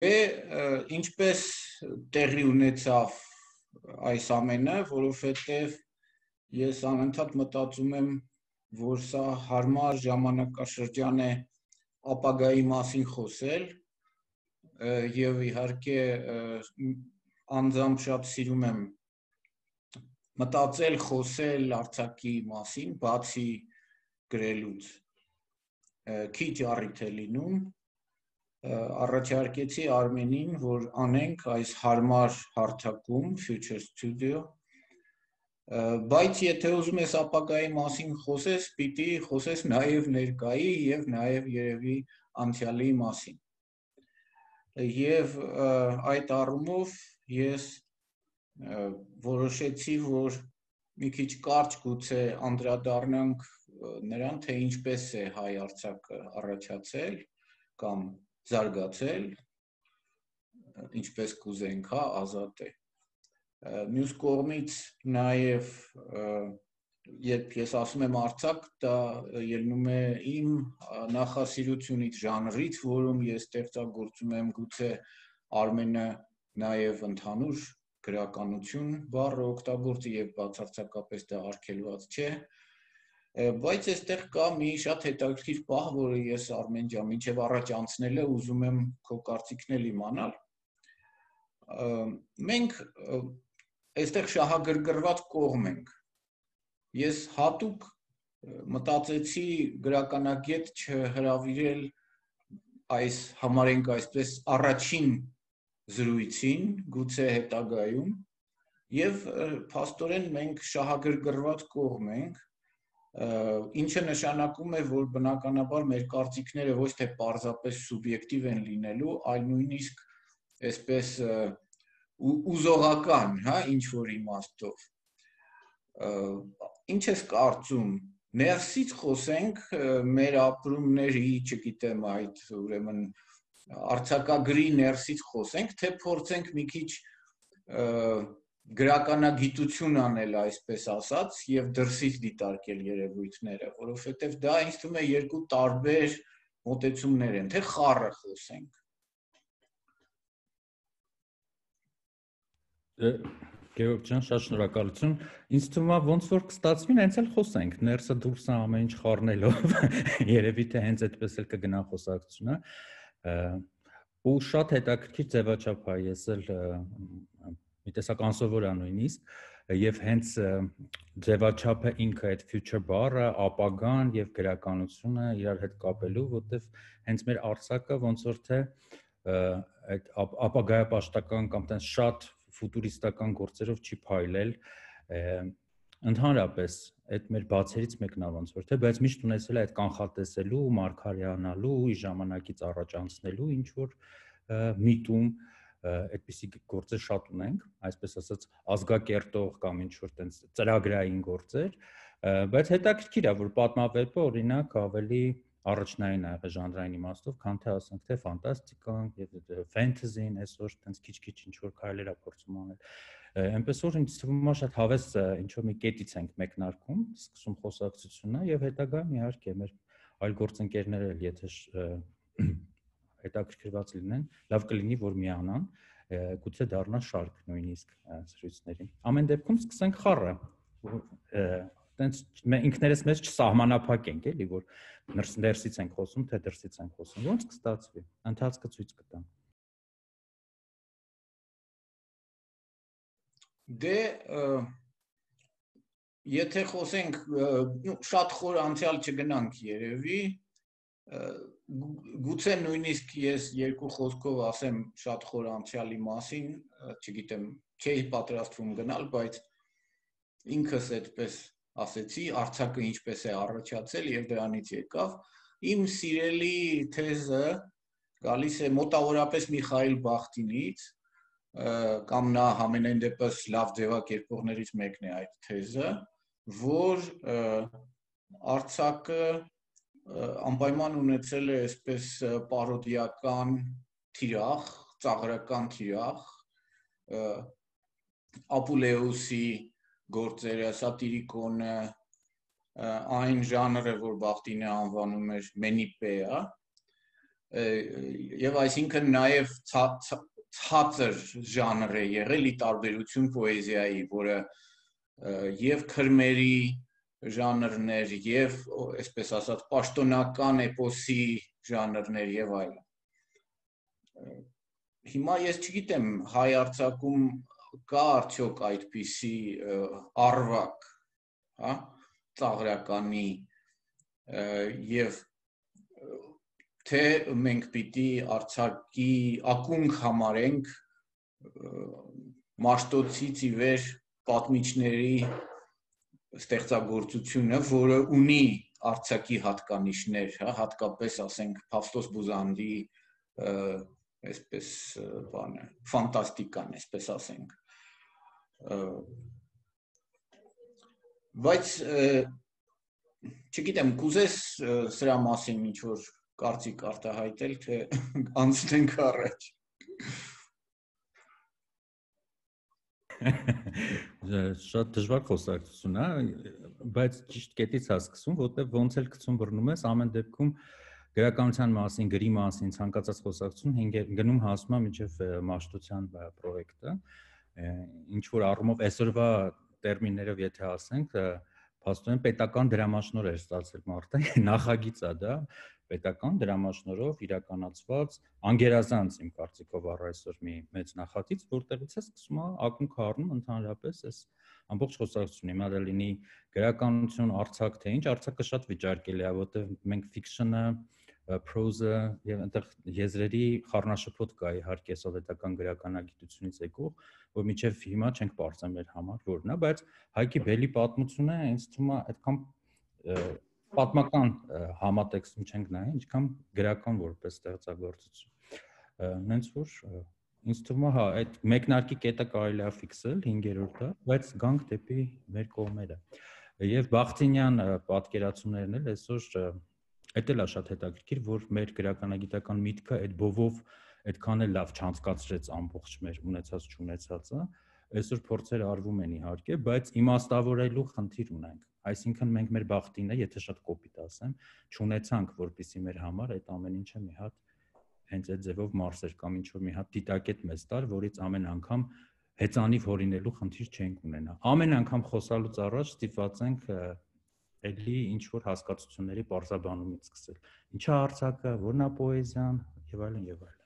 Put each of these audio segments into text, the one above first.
Ինչպես տեղի ունեցավ այս ամենը, որովհետև ես անընդհատ մտածում եմ, որ սա հարմար ժամանակաշրջան է ապագայի մասին խոսել եւ իհարկե անձամբ շատ սիրում եմ մտածել, խոսել Արցախի մասին, բացի գրելուց։ Քիչ առիթ է լինում, առաջարկեցի Արմենին, որ անենք այս հարմար հարթակում Future Studio, բայց եթե ուզում ես ապագայի մասին խոսես, պիտի խոսես նաև ներկայի եւ նաև երևի անցյալի մասին։ Եվ այդ առումով ես որոշեցի, որ մի քիչ կարճ գուցե անդրադառնանք նրան, թե ինչպես է հայ Արցախը առաջացել կամ զարգացել, ինչպես կուզենք, ազատ է։ Մյուս կողմից նաև երբ ես ասում եմ Արցախ, դա ելնում է իմ նախասիրությունից, ժանրից, որում ես ստեղծագործում եմ, գուցե Արմենը նաև ընդհանուր գրականություն բառը օգտագործի եւ բացարձակապես դա արգելված չէ, բայց այստեղ կա մի շատ հետաքրքիր պահ, որը ես Արմեն ջան, մինչև առաջ անցնելը ուզում եմ քո կարծիքն էլ իմանալ։ Մենք այստեղ շահագրգռված կողմ ենք։ Ես հատուկ մտածեցի գրականագետ չհրավիրել այս համարենք այսպես առաջին զրույցին, գուցե հետագայում, եւ փաստորեն մենք շահագրգռված կողմ ենք, ինչը նշանակում է, որ բնականաբար մեր կարծիքները ոչ թե պարզապես սուբյեկտիվ են լինելու, այլ նույնիսկ այսպես ուզողական, ինչ որ իմաստով։ Ինչ ես կարծում, ներսից խոսենք մեր ապրումների, չգիտեմ, այդ ուրեմն արձակագրի ներսից խոսենք, թե փորձենք մի քիչ գրականագիտություն անել, այսպես ասած, եւ դրսից դիտարկել երևույթները, որովհետեւ դա ինձ թվում է երկու տարբեր մոտեցումներ են, թե խառը խոսենք։ Գեորգ ջան, շատ շնորհակալություն։ Ինձ թվում է ոնց որ կստացվի, հենց էլ խոսենք, ներսը դուրսը ամեն ինչ խառնելով, երևի թե հենց այդպես էլ կգնա խոսակցությունը։ Ու շատ հետաքրքիր ձևաչափ է, ես էլ մի տեսակ անսովոր է նույնիսկ, եւ հենց ձևաչափը ինքը այդ future բառը, ապագան եւ գրականությունը իրար հետ կապելու, որտեվ հենց մեր Արցախը ոնց որ թե այդ ապագայապաշտական կամ տես շատ ֆուտուրիստական գործերով չի փայլել, ընդհանրապես այդ մեր բացերից մեկն է ոնց որ թե, բայց միշտ ունեցել է այդ կանխատեսելու, մարգարյանալու, ժամանակից առաջ անցնելու ինչ որ միտում, այդպիսի գործեր շատ ունենք, այսպես ասած ազգակերտող կամ ինչ որ տենց ծրագրային գործեր, բայց հետաքրքիր է, որ պատմավեպը օրինակ ավելի առաջնային է եղել ժանրային իմաստով, քան թե ասենք թե ֆանտաստիկան եւ ֆենթեզին, այսօր տենց քիչ-քիչ ինչ որ քայլեր է փորձում անել։ Այնպես որ ինձ թվում է շատ հավես ինչ որ մի կետից ենք մեկնարկում, սկսում խոսակցությունը եւ հետագայում իհարկե մեր այլ գործընկերներ էլ եթե հետաքրքրված լինեն, լավ կլինի որ միանան, գուցե դառնա շարք նույնիսկ զրույցների։ Ամեն դեպքում սկսենք խառը, տենց ինքներս մեզ չսահմանափակենք, էլի որ ներսից ենք խոսում, թե դրսից ենք խոսում, ոնց կստացվի, ընթացքը ցույց կտա։ Դե եթե խոսենք շատ խոր անցյալ չգնանք երևի, գուցե նույնիսկ ես երկու խոսքով ասեմ շատ խոր անցյալի մասին, չգիտեմ, չէի պատրաստվում գնալ, բայց ինքս այդպես ասեցի, Արցախը ինչպես է առաջացել եւ դրանից եկավ, իմ սիրելի թեզը գալիս է մոտավորապես Միխայիլ Բախտինից, կամ նա համենայն դեպս լավ ձևակերպողներից մեկն է այդ թեզը, որ Արցախը անպայման ունեցել է այսպես պարոդիական թիրախ, ծաղրական թիրախ, Ապուլեուսի գործերը, սատիրիկոնը, այն ժանրը, որ Բախտինը անվանում էր մենիպեա, եւ այսինքն նաեւ ցածր ժանր է եղել ի տարբերություն պոեզիայի, որը եւ քրմերի ժանրներ եւ այսպես ասած պաշտոնական էպոսի ժանրներ եւ այլն։ Հիմա ես չգիտեմ հայ արձակում կա արդյոք այդպիսի արվակ, հա, ծաղրականի եւ թե մենք պիտի արձակի ակունք համարենք Մաշտոցից ի վեր պատմիչների ստեղծագործությունը, որը ունի արձակի հատկանիշներ, հա, հատկապես ասենք Փավստոս Բուզանդի այսպես բանը, ֆանտաստիկան, այսպես ասենք։ Բայց չգիտեմ, կուզես սրա մասին ինչ-որ կարծիք արտահայտել, թե անցնենք առաջ։ Շատ դժվար խոսակցություն է, բայց ճիշտ կետից է սկսում, որտեղ ոնց էլ գցում բռնում ես, ամեն դեպքում գրականության մասին, գրի մասին ցանկացած խոսակցություն գնում հասնում է մինչև մաշտության պրոյեկտը, ինչ որ առումով այսօրվա տերմիններով եթե ասենք, փաստորեն պետական դրամաշնոր էր ստացել մարդը, նախագիծ է դա, պետական դրամաշնորհով իրականացված անգերազանց իմ կարծիքով առ այսօր մի մեծ նախագիծ, որտեղից է սկսում ակունք առնում ընդհանրապես այս ամբողջ խոսակցությունը, հիմա դա լինի գրականություն, արձակ թե ինչ, արձակը շատ վիճարկելի է, որտեղ մենք ֆիքշնը, prose-ը եւ այնտեղ եզրերի խառնաշփոթ կա իհարկե սովետական գրականագիտությունից եկող, որ մինչև հիմա չենք բարձր մեր համար որն է, բայց Հայկի Բելի պատմությունը ինձ թվում է այդքան պատմական համատեքստում չենք նայ, ինչքան գրական որպես ստեղծագործություն։ Նենց որ ինձ թվում է, հա, այդ մեկնարկի կետը կարելի է ֆիքսել 5-րդը, բայց գանք դեպի մեր կողմերը։ Եվ Բախտինյան պատկերացումներն էլ այսօր այդ էլ է շատ հետաքրքիր, որ մեր գրականագիտական միտքը այդ բովով այդքան էլ լավ չանցկացրեց ամբողջ մեր ունեցած չունեցածը, այսօր փորձեր արվում են իհարկե, բայց իմաստավորելու խնդիր ունենք։ Այսինքն մենք մեր բախտինը, եթե շատ կոպիտ ասեմ, չունեցանք, որպեսզի մեր համար այդ ամեն ինչը մի հատ հենց այդ ձևով մարսեր կամ ինչ որ մի հատ դիտակետ մեզ տար, որից ամեն անգամ հեծանիվ հորինելու խնդիր չենք ունենա։ Ամեն անգամ խոսալուց առաջ ստիպված ենք էլի ինչ որ հասկացությունների պարզաբանումից սկսել։ Ինչա արձակը, որն է պոեզիան եւ այլն եւ այլն։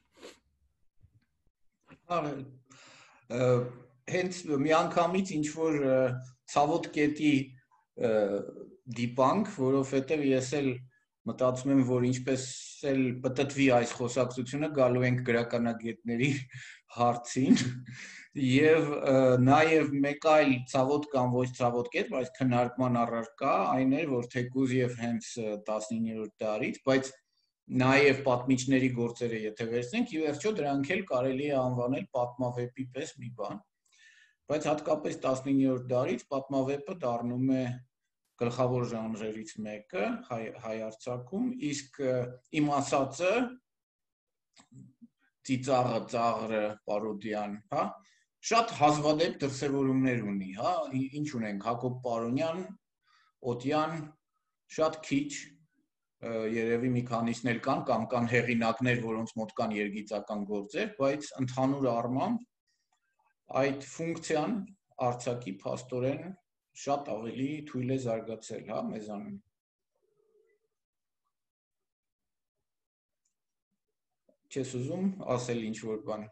Հենց միանգամից ինչ որ ցավոտ կետի դիպանք, որովհետեւ ես էլ մտածում եմ, որ ինչպես էլ պտտվի այս խոսակցությունը, գալու ենք գրականագետների հարցին եւ նաեւ մեկ այլ ցավոտ կամ ոչ ցավոտ կետ, բայց քննարկման առարկա այն էր, որ թեկուզ եւ հենց 19-րդ դարից, բայց նաեւ պատմիչների գործերը եթե վերցնենք, ի վերջո դրանք էլ կարելի է անվանել պատմավեպի պես մի բան, բայց հատկապես 19-րդ դարից պատմավեպը դառնում է գլխավոր ժանրերից մեկը հայ արձակում, իսկ իմ ասածը ծիծաղը, ծաղրը, պարոդիան, հա, շատ հազվադեպ դրսևորումներ ունի, հա, ինչ ունենք, Հակոբ Պարոնյան, Օտյան, շատ քիչ, երևի մի քանիսն էլ կան, կամ կան հեղինակներ, որոնց մոտ կան երգիծական գործեր, բայց ընդհանուր առմամբ այդ ֆունկցիան արձակի փաստորեն շատ ավելի թույլ է զարգացել, հա, մեզանում։ Չես ուզում ասել ինչ-որ բան։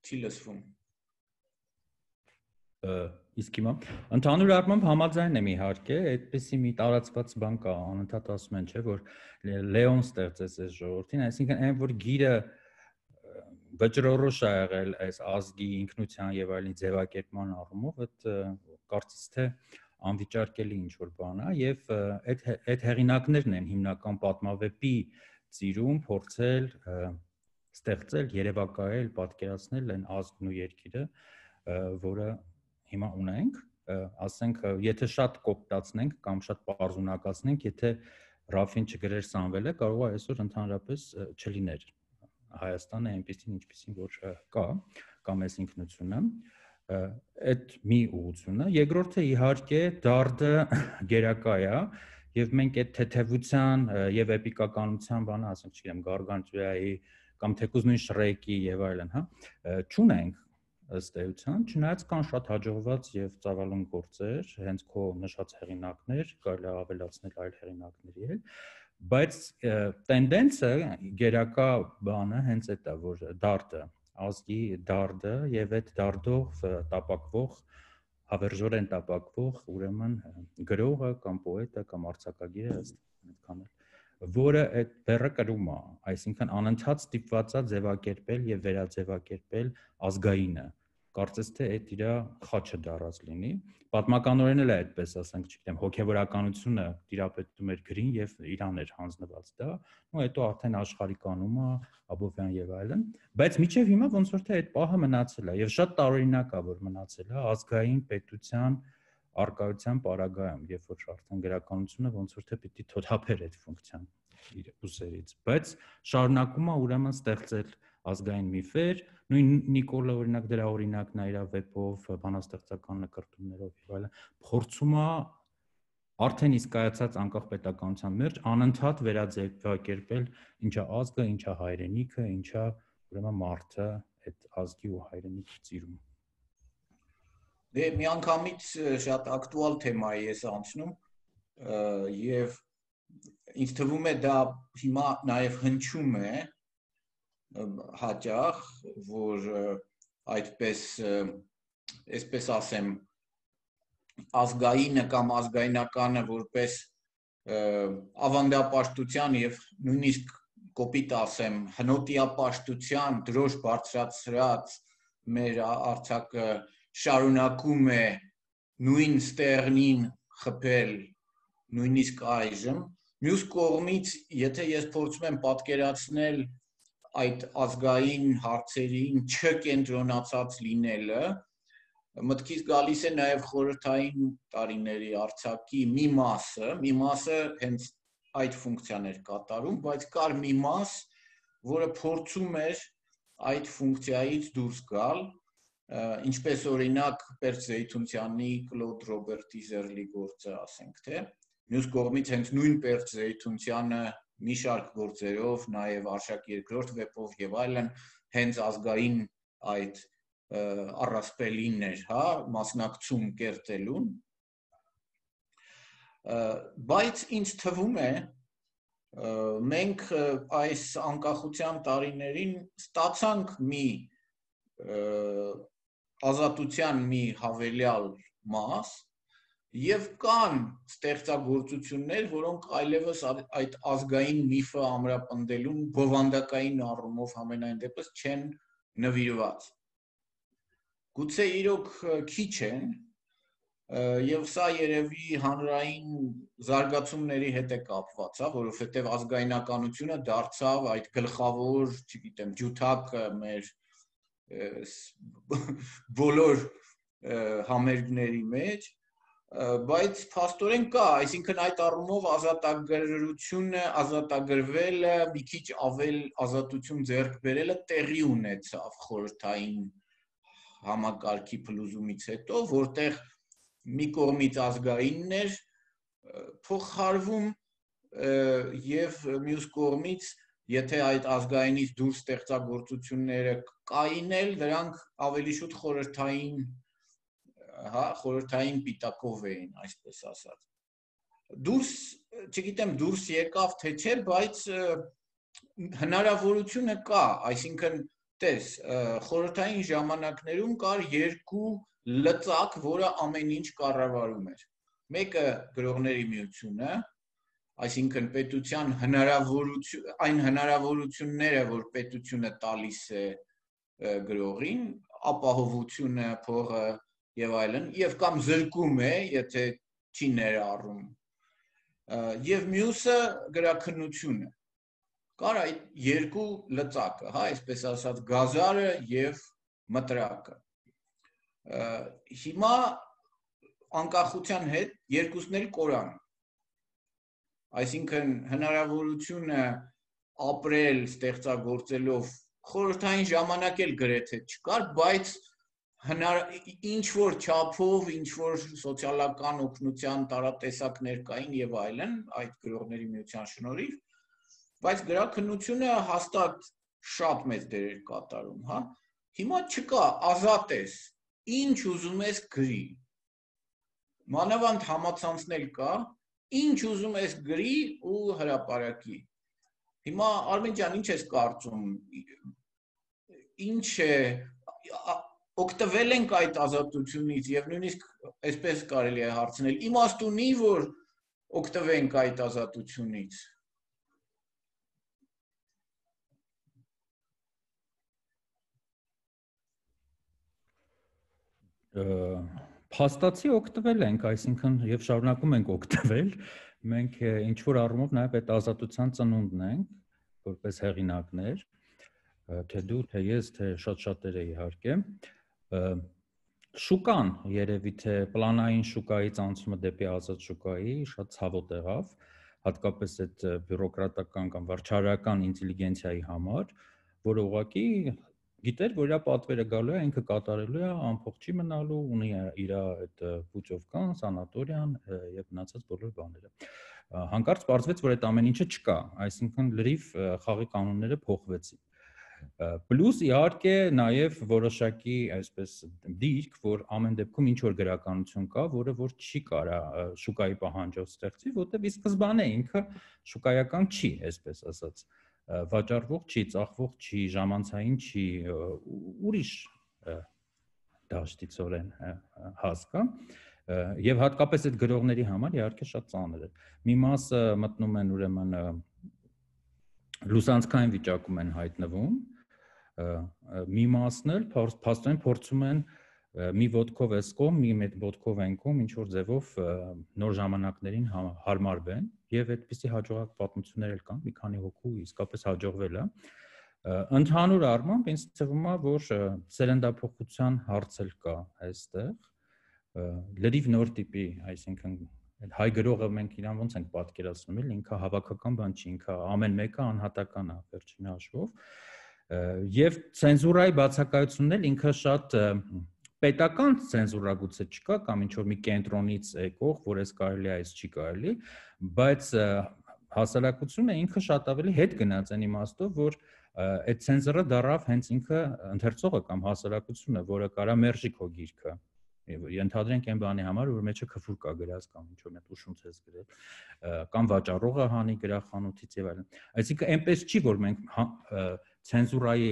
Չի լսվում։ Իսկ հիմա ընդհանուր առմամբ համաձայն եմ իհարկե, այդպեսի մի տարածված բան կա, անընդհատ ասում են, չէ, որ Լեոն ստեղծեց այս ժողովրդին, այսինքն այն որ գիրը վճռորոշ է եղել այս ազգի ինքնության եւ այլնի ձևակերպման առումով, այդ կարծես թե անվիճարկելի ինչ որ բան է եւ այդ հեղինակներն են հիմնական պատմավեպի ծիրում փորձել ստեղծել, երևակայել, պատկերացնել այն ազգն ու երկիրը, որը հիմա ունենք, ասենք, եթե շատ կոպտացնենք կամ շատ պարզունակացնենք, եթե Ռաֆին չգրեր Սամվելը, կարող է այսօր ընդհանրապես չլիներ Հայաստանը այնպեսին ինչպեսին որ կա, կամ այս ինքնությունը, այդ մի ուղղությունը, երկրորդը իհարկե դարդը գերակա է, եւ մենք այդ թեթևության եւ էպիկականության բանը, ասենք, չգիտեմ, Գարգանտուայի կամ թեկուզ նույն Շրեկի եւ այլն, հա, չունենք ըստ էության, չնայած կան շատ հաջողված եւ ծավալուն գործեր, հենց քո նշած հեղինակներ, կարելի է ավելացնել այլ հեղինակների էլ, բայց տենդենսը գերակա բանը հենց այդ է, որ դարդը, ազգի դարդը եւ այդ դարդով տապակվող հավերժորեն տապակվող, ուրեմն գրողը կամ պոետը կամ արձակագիրը այդքան որը այդ բեռը կրում է, այսինքն անընդհատ ստիպված է ձևակերպել եւ վերաձևակերպել ազգայինը։ Կարծես թե այդ իր խաչը դարած լինի։ Պատմականորեն էլ է այդպես, ասենք, չգիտեմ, հոգեվորականությունը տիրապետում էր գրին եւ իրան էր հանձնված դա, ու հետո արդեն աշխարհիկանումը, Աբովյան եւ այլն, բայց միջև հիմա ոնց որ թե այդ պահը մնացել է եւ շատ տարօրինակ է, որ մնացել է ազգային պետության արկայության պարագայում, երբ որ արդեն գրականությունը ոնց որ թե պիտի թոթափեր այդ ֆունկցիան իր ուսերից, բայց շարունակում է ուրեմն ստեղծել ազգային միֆեր, նույն Նիկոլը օրինակ դրա օրինակն է իր վեպով, բանաստեղծական նկարտումներով եւ այլն, փորձում է արդեն իսկ կայացած անկախ պետականության մեջ անընդհատ վերաձևակերպել ինչա ազգը, ինչա հայրենիքը, ինչա ուրեմն մարդը այդ ազգի ու հայրենիքի ծիրում։ Դե միանգամից շատ ակտուալ թեմայի ես անցնում եւ ինձ թվում է դա հիմա նաեւ հնչում է հաճախ, որ այդպես այսպես ասեմ ազգայինը կամ ազգայնականը որպես ավանդապաշտության եւ նույնիսկ կոպիտ ասեմ հնոտիապաշտության դրոշ բարձրացրած մեր արձակը շարունակում է նույն ստեղնին խփել նույնիսկ այժմ մյուս կողմից եթե ես փորձում եմ պատկերացնել այդ ազգային հարցերին չկենտրոնացած լինելը մտքից գալիս է նաև խորհրդային տարիների արձակի մի մասը հենց այդ ֆունկցիան էր կատարում, բայց կար մի մաս, որը փորձում էր այդ ֆունկցիայից դուրս գալ, ինչպես օրինակ Պերճ Զեյթունցյանի Կլոդ Ռոբերտի Զերլի գործը, ասենք թե, մյուս կողմից հենց նույն Պերճ Զեյթունցյանը մի շարք գործերով, նաև Արշակ II վեպով եւ այլն, հենց ազգային այդ առասպելին էր, հա, մասնակցում կերտելուն, բայց ինձ թվում է մենք այս անկախության տարիներին ստացանք մի ազատության մի հավելյալ մաս եւ կան ստեղծագործություններ, որոնք այլևս այդ ազգային միֆը ամրապնդելուն բովանդակային առումով համենայն դեպս չեն նվիրված։ Գուցե իրոք քիչ են եւ սա երևի հանրային զարգացումների հետ է կապված, հա, որովհետեւ ազգայնականությունը դարձավ այդ գլխավոր, չգիտեմ, ջութակը մեր բոլոր համերգների մեջ, բայց փաստորեն կա, այսինքն այդ առումով ազատագրությունը, ազատագրվելը, մի քիչ ավել ազատություն ձեռք բերելը տեղի ունեցավ խորհրդային համակարգի փլուզումից հետո, որտեղ մի կողմից ազգայինն էր փոխարվում եւ մյուս կողմից եթե այդ ազգայինից դուրս ստեղծագործությունները կային էլ դրանք ավելի շուտ խորհրդային հա խորհրդային պիտակով էին, այսպես ասած։ Դուրս, չգիտեմ, դուրս եկավ թե չէ, բայց հնարավորությունը կա, այսինքն տես, խորհրդային ժամանակներում կար երկու լծակ, որը ամեն ինչ կառավարում էր։ Մեկը գրողների միությունը, այսինքն պետության այն հնարավորությունները, որ պետությունը տալիս է գրողին, ապահովությունը, փողը եւ այլն, եւ կամ զրկում է, եթե չի ներառում։ Եվ մյուսը գրաքննությունը։ Կար այդ երկու լծակը, հա, այսպես ասած, գազարը եւ մտրակը։ Հիմա անկախության հետ երկուսն էլ կորան։ Այսինքն հնարավորությունը ապրել ստեղծագործելով խորհրդային ժամանակ էլ գրեթե չկար, բայց ինչ որ չափով, ինչ որ սոցիալական օգնության տարատեսակներ կային եւ այլն, այդ գրողների միության շնորհիվ, բայց գրաքննությունը հաստատ շատ մեծ դեր էր կատարում, հա։ Հիմա չկա, ազատ ես, ինչ ուզում ես գրի։ Մանավանդ համացանցներ կա, ինչ ուզում ես գրի ու հրապարակի։ Հիմա Արմեն ջան, ինչ ես կարծում, ինչ է օգտվել ենք այդ ազատությունից եւ նույնիսկ այսպես կարելի է հարցնել, իմաստ ունի, որ օգտվենք այդ ազատությունից։ Փաստացի օգտվել ենք, այսինքն եւ շարունակում ենք օգտվել։ Մենք ինչ որ առումով նաեւ այդ ազատության ծնունդն ենք, որպես հեղինակներ, թե դու, թե ես, թե շատ-շատերը իհարկե։ Շուկան երևի թե պլանային շուկայից անցումը դեպի ազատ շուկայի շատ ցավոտ եղավ, հատկապես այդ բյուրոկրատական կամ վարչարական ինտելիգենցիայի համար, որը ուղղակի գիտեր, որ իր պատվերը գալու է, ինքը կատարելու է, ամփոփ չի մնալու, ունի իր այդ պուչովկան, սանատորիան եւ մնացած բոլոր բաները։ Հանկարծ պարզվեց, որ այդ ամեն ինչը չկա, այսինքն լրիվ խաղի կանոնները փոխվեցին։ Պլյուս իհարկե նաև որոշակի այսպես դիրք, որ ամեն դեպքում ինչ որ գրականություն կա, որը որ չի կարա շուկայի պահանջով ստեղծի, որտեղ ի սկզբանե ինքը շուկայական չի, այսպես ասած, վաճառվող չի, ծախվող չի, ժամանցային չի, ուրիշ դաշտիցորեն հասկա, եւ հատկապես այդ գրողների համար իհարկե շատ ծանր է։ Մի մասը մտնում են ուրեմն լուսանցքային վիճակում են հայտնվում, մի մասն էլ փաստորեն փորձում են մի ոտքով էս կողմ, մի ոտքով այն կողմ, ինչ որ ձևով նոր ժամանակներին հարմարվեն եւ այդպիսի հաջողակ պատմություններ էլ կան, մի քանի հոգու իսկապես հաջողվել է։ Ընդհանուր առմամբ ինձ թվում է, որ սերնդափոխության հարց էլ կա այստեղ, լրիվ նոր տիպի, այսինքն հայ գրողը մենք իրան ոնց ենք պատկերացնում, էլ ինքը հավաքական բան չի, ինքը ամեն մեկը անհատական է վերջին հաշվով, եւ ցենզուրայի բացակայությունն էլ ինքը շատ պետական ցենզուրա գուցե չկա կամ ինչ որ մի կենտրոնից եկող, որ էս կարելի է, էս չի կարելի, բայց հասարակությունը ինքը շատ ավելի հետ գնաց այն իմաստով, որ այդ ցենզուրը դարավ հենց ինքը ընթերցողը կամ հասարակությունը, որը կարա մերժի քո գիրքը։ Ենթադրենք այն բանի համար, որ մեջը քֆուր կա գրած կամ ինչ որ մեծ ուշունց ես գրել, կամ վաճառողը հանի գրախանութից եւ այլն։ Այսինքն այնպես չի, որ մենք ցենզուրայի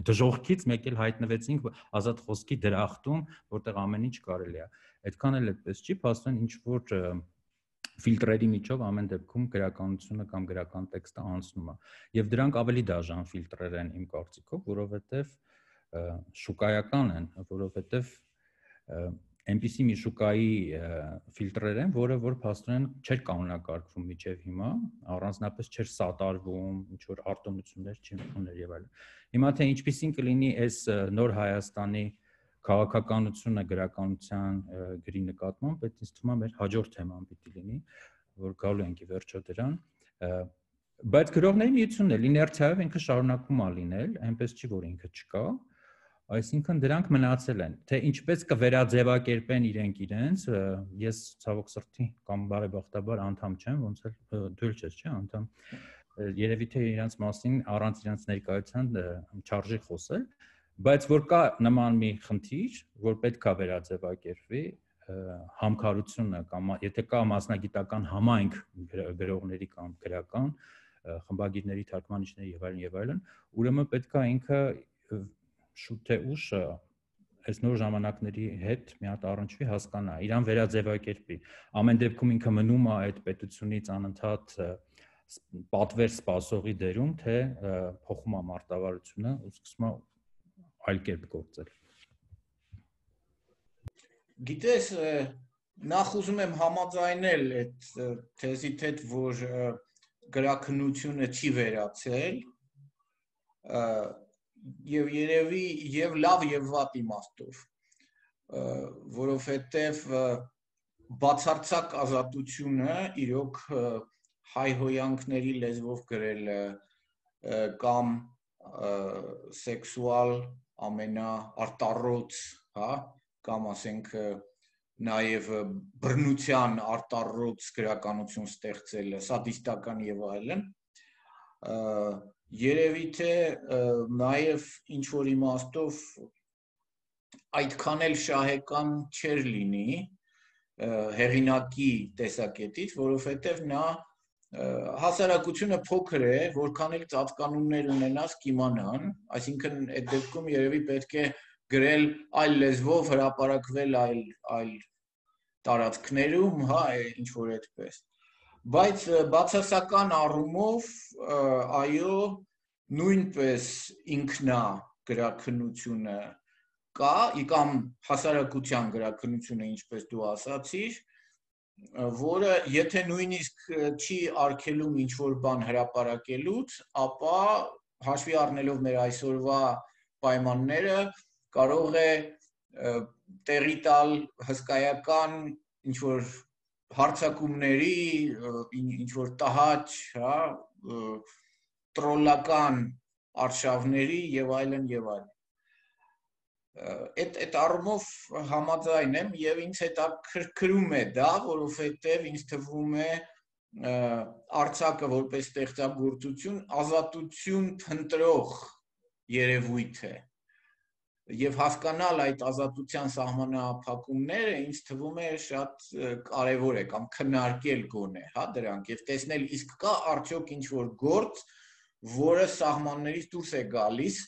դժողքից մեկ էլ հայտնվեցինք ազատ խոսքի դրախտում, որտեղ ամեն ինչ կարելի է։ Այդքան էլ այդպես չի, փաստորեն ինչ որ ֆիլտրերի միջով ամեն դեպքում գրականությունը կամ գրական տեքստը անցնում է։ Եվ դրանք ավելի դաժան ֆիլտրեր են իմ կարծիքով, որովհետեւ շուկայական են, որովհետեւ այնպիսի մի շուկայի ֆիլտրեր են, որը որ փաստորեն չէր կանոնակարգվում մինչև հիմա, առանձնապես չէր սատարվում, ինչ որ արտոնություններ չուներ եւ այլն։ Հիմա թե ինչպիսին կլինի այս նոր Հայաստանի քաղաքականությունը գրականության գրի նկատմամբ, այդ ինձ թվում է մեր հաջորդ թեման պիտի լինի, որ գալու ենք ի վերջո դրան, բայց գրողների միությունն էլ իներցիայով ինքը շարունակում է լինել, այնպես չի, որ ինքը չկա, այսինքն դրանք մնացել են, թե ինչպես կվերաձևակերպեն իրենց, ես ցավոք սրտի կամ բարեբախտաբար անդամ չեմ, ոնց էլ դու չես, չէ՞, անդամ, երևի թե իրենց մասին առանց իրենց ներկայության չարժի խոսել, բայց որ կա նման մի խնդիր, որ պետք է վերաձևակերպվի, համքարությունը կամ եթե կա մասնագիտական համայնք գրողների կամ գրական խմբագիրների, թարգմանիչների եւ այլն, ուրեմն պետք է ինքը շուտ թե ուշ այս նոր ժամանակների հետ մի հատ առնչվի, հասկանա, իրան վերաձևակերպի։ Ամեն դեպքում ինքը մնում է այդ պետությունից անընդհատ պատվեր սպասողի դերում, թե փոխում է մարտավարությունը ու սկսում է այլ կերպ գործել։ Գիտես, նախ ուզում եմ համաձայնել այդ թեզիդ հետ, որ գրաքննությունը չի վերացել, եւ երևի եւ լավ եւ վատ իմաստով, որովհետեւ բացարձակ ազատությունը իրոք հայհոյանքների լեզվով գրելը կամ սեքսուալ ամենաարտառոց, հա, կամ ասենք նաև բռնության արտառոց գրականություն ստեղծելը, սադիստական եւ այլն, երևի թե նաև ինչ որ իմաստով այդքան էլ շահեկան չէր լինի հեղինակի տեսակետից, որովհետև նա հասարակությունը փոքր է, որքան էլ ծածկանուններ ունենաս կիմանան, այսինքն այդ դեպքում երևի պետք է գրել այլ լեզվով, հրապարակվել այլ տարածքներում, հա, ինչ որ այդպես։ Բայց բացասական առումով, այո, նույնպես ինքնա գրաքննությունը կա, կամ հասարակության գրաքննությունը, ինչպես դու ասացիր, որը եթե նույնիսկ չի արգելում ինչ-որ բան հրապարակելուց, ապա հաշվի առնելով մեր այսօրվա պայմանները, կարող է տեղի տալ հսկայական ինչ-որ հարձակումների, ինչ-որ տհաճ, հա, տրոլական արշավների եւ այլն եւ այլն։ Այդ առումով համաձայն եմ եւ ինձ հետաքրքրում է դա, որովհետեւ ինձ թվում է արձակը որպես ստեղծագործություն ազատություն փնտրող երևույթ է եւ հասկանալ այդ ազատության սահմանափակումները ինձ թվում է շատ կարեւոր է կամ քննարկել գոնե, հա, դրանք եւ տեսնել իսկ կա արդյոք ինչ որ գործ, որը սահմաններից դուրս է գալիս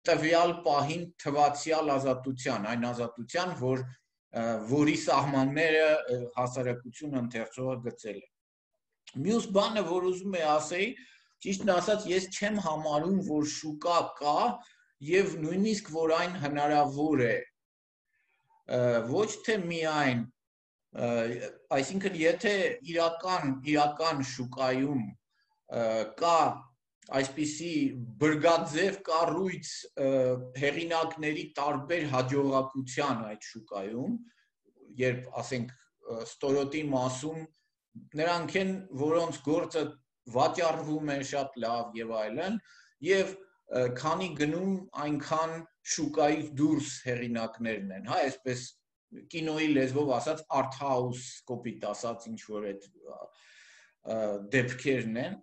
տվյալ պահին թվացյալ ազատության, այն ազատության, որի սահմանները հասարակությունը ընթերցողը գծել է։ Մյուս բանը, որ ուզում եմ ասեի, ճիշտն ասած, ես չեմ համարում, որ շուկա կա եւ նույնիսկ որ այն հնարավոր է։ Ոչ թե միայն, այսինքն եթե իրական շուկայում կա այսպիսի բրգաձև կառույց հեղինակների տարբեր հաջողակության այդ շուկայում, երբ ասենք ստորոտի մասում նրանք են, որոնց գործը վաճառվում է շատ լավ եւ այլն, եւ քանի գնում այնքան շուկայից դուրս հեղինակներն են, հա, այսպես կինոյի լեզվով ասած art house կոպիտ ասած ինչ որ այդ դեպքերն են,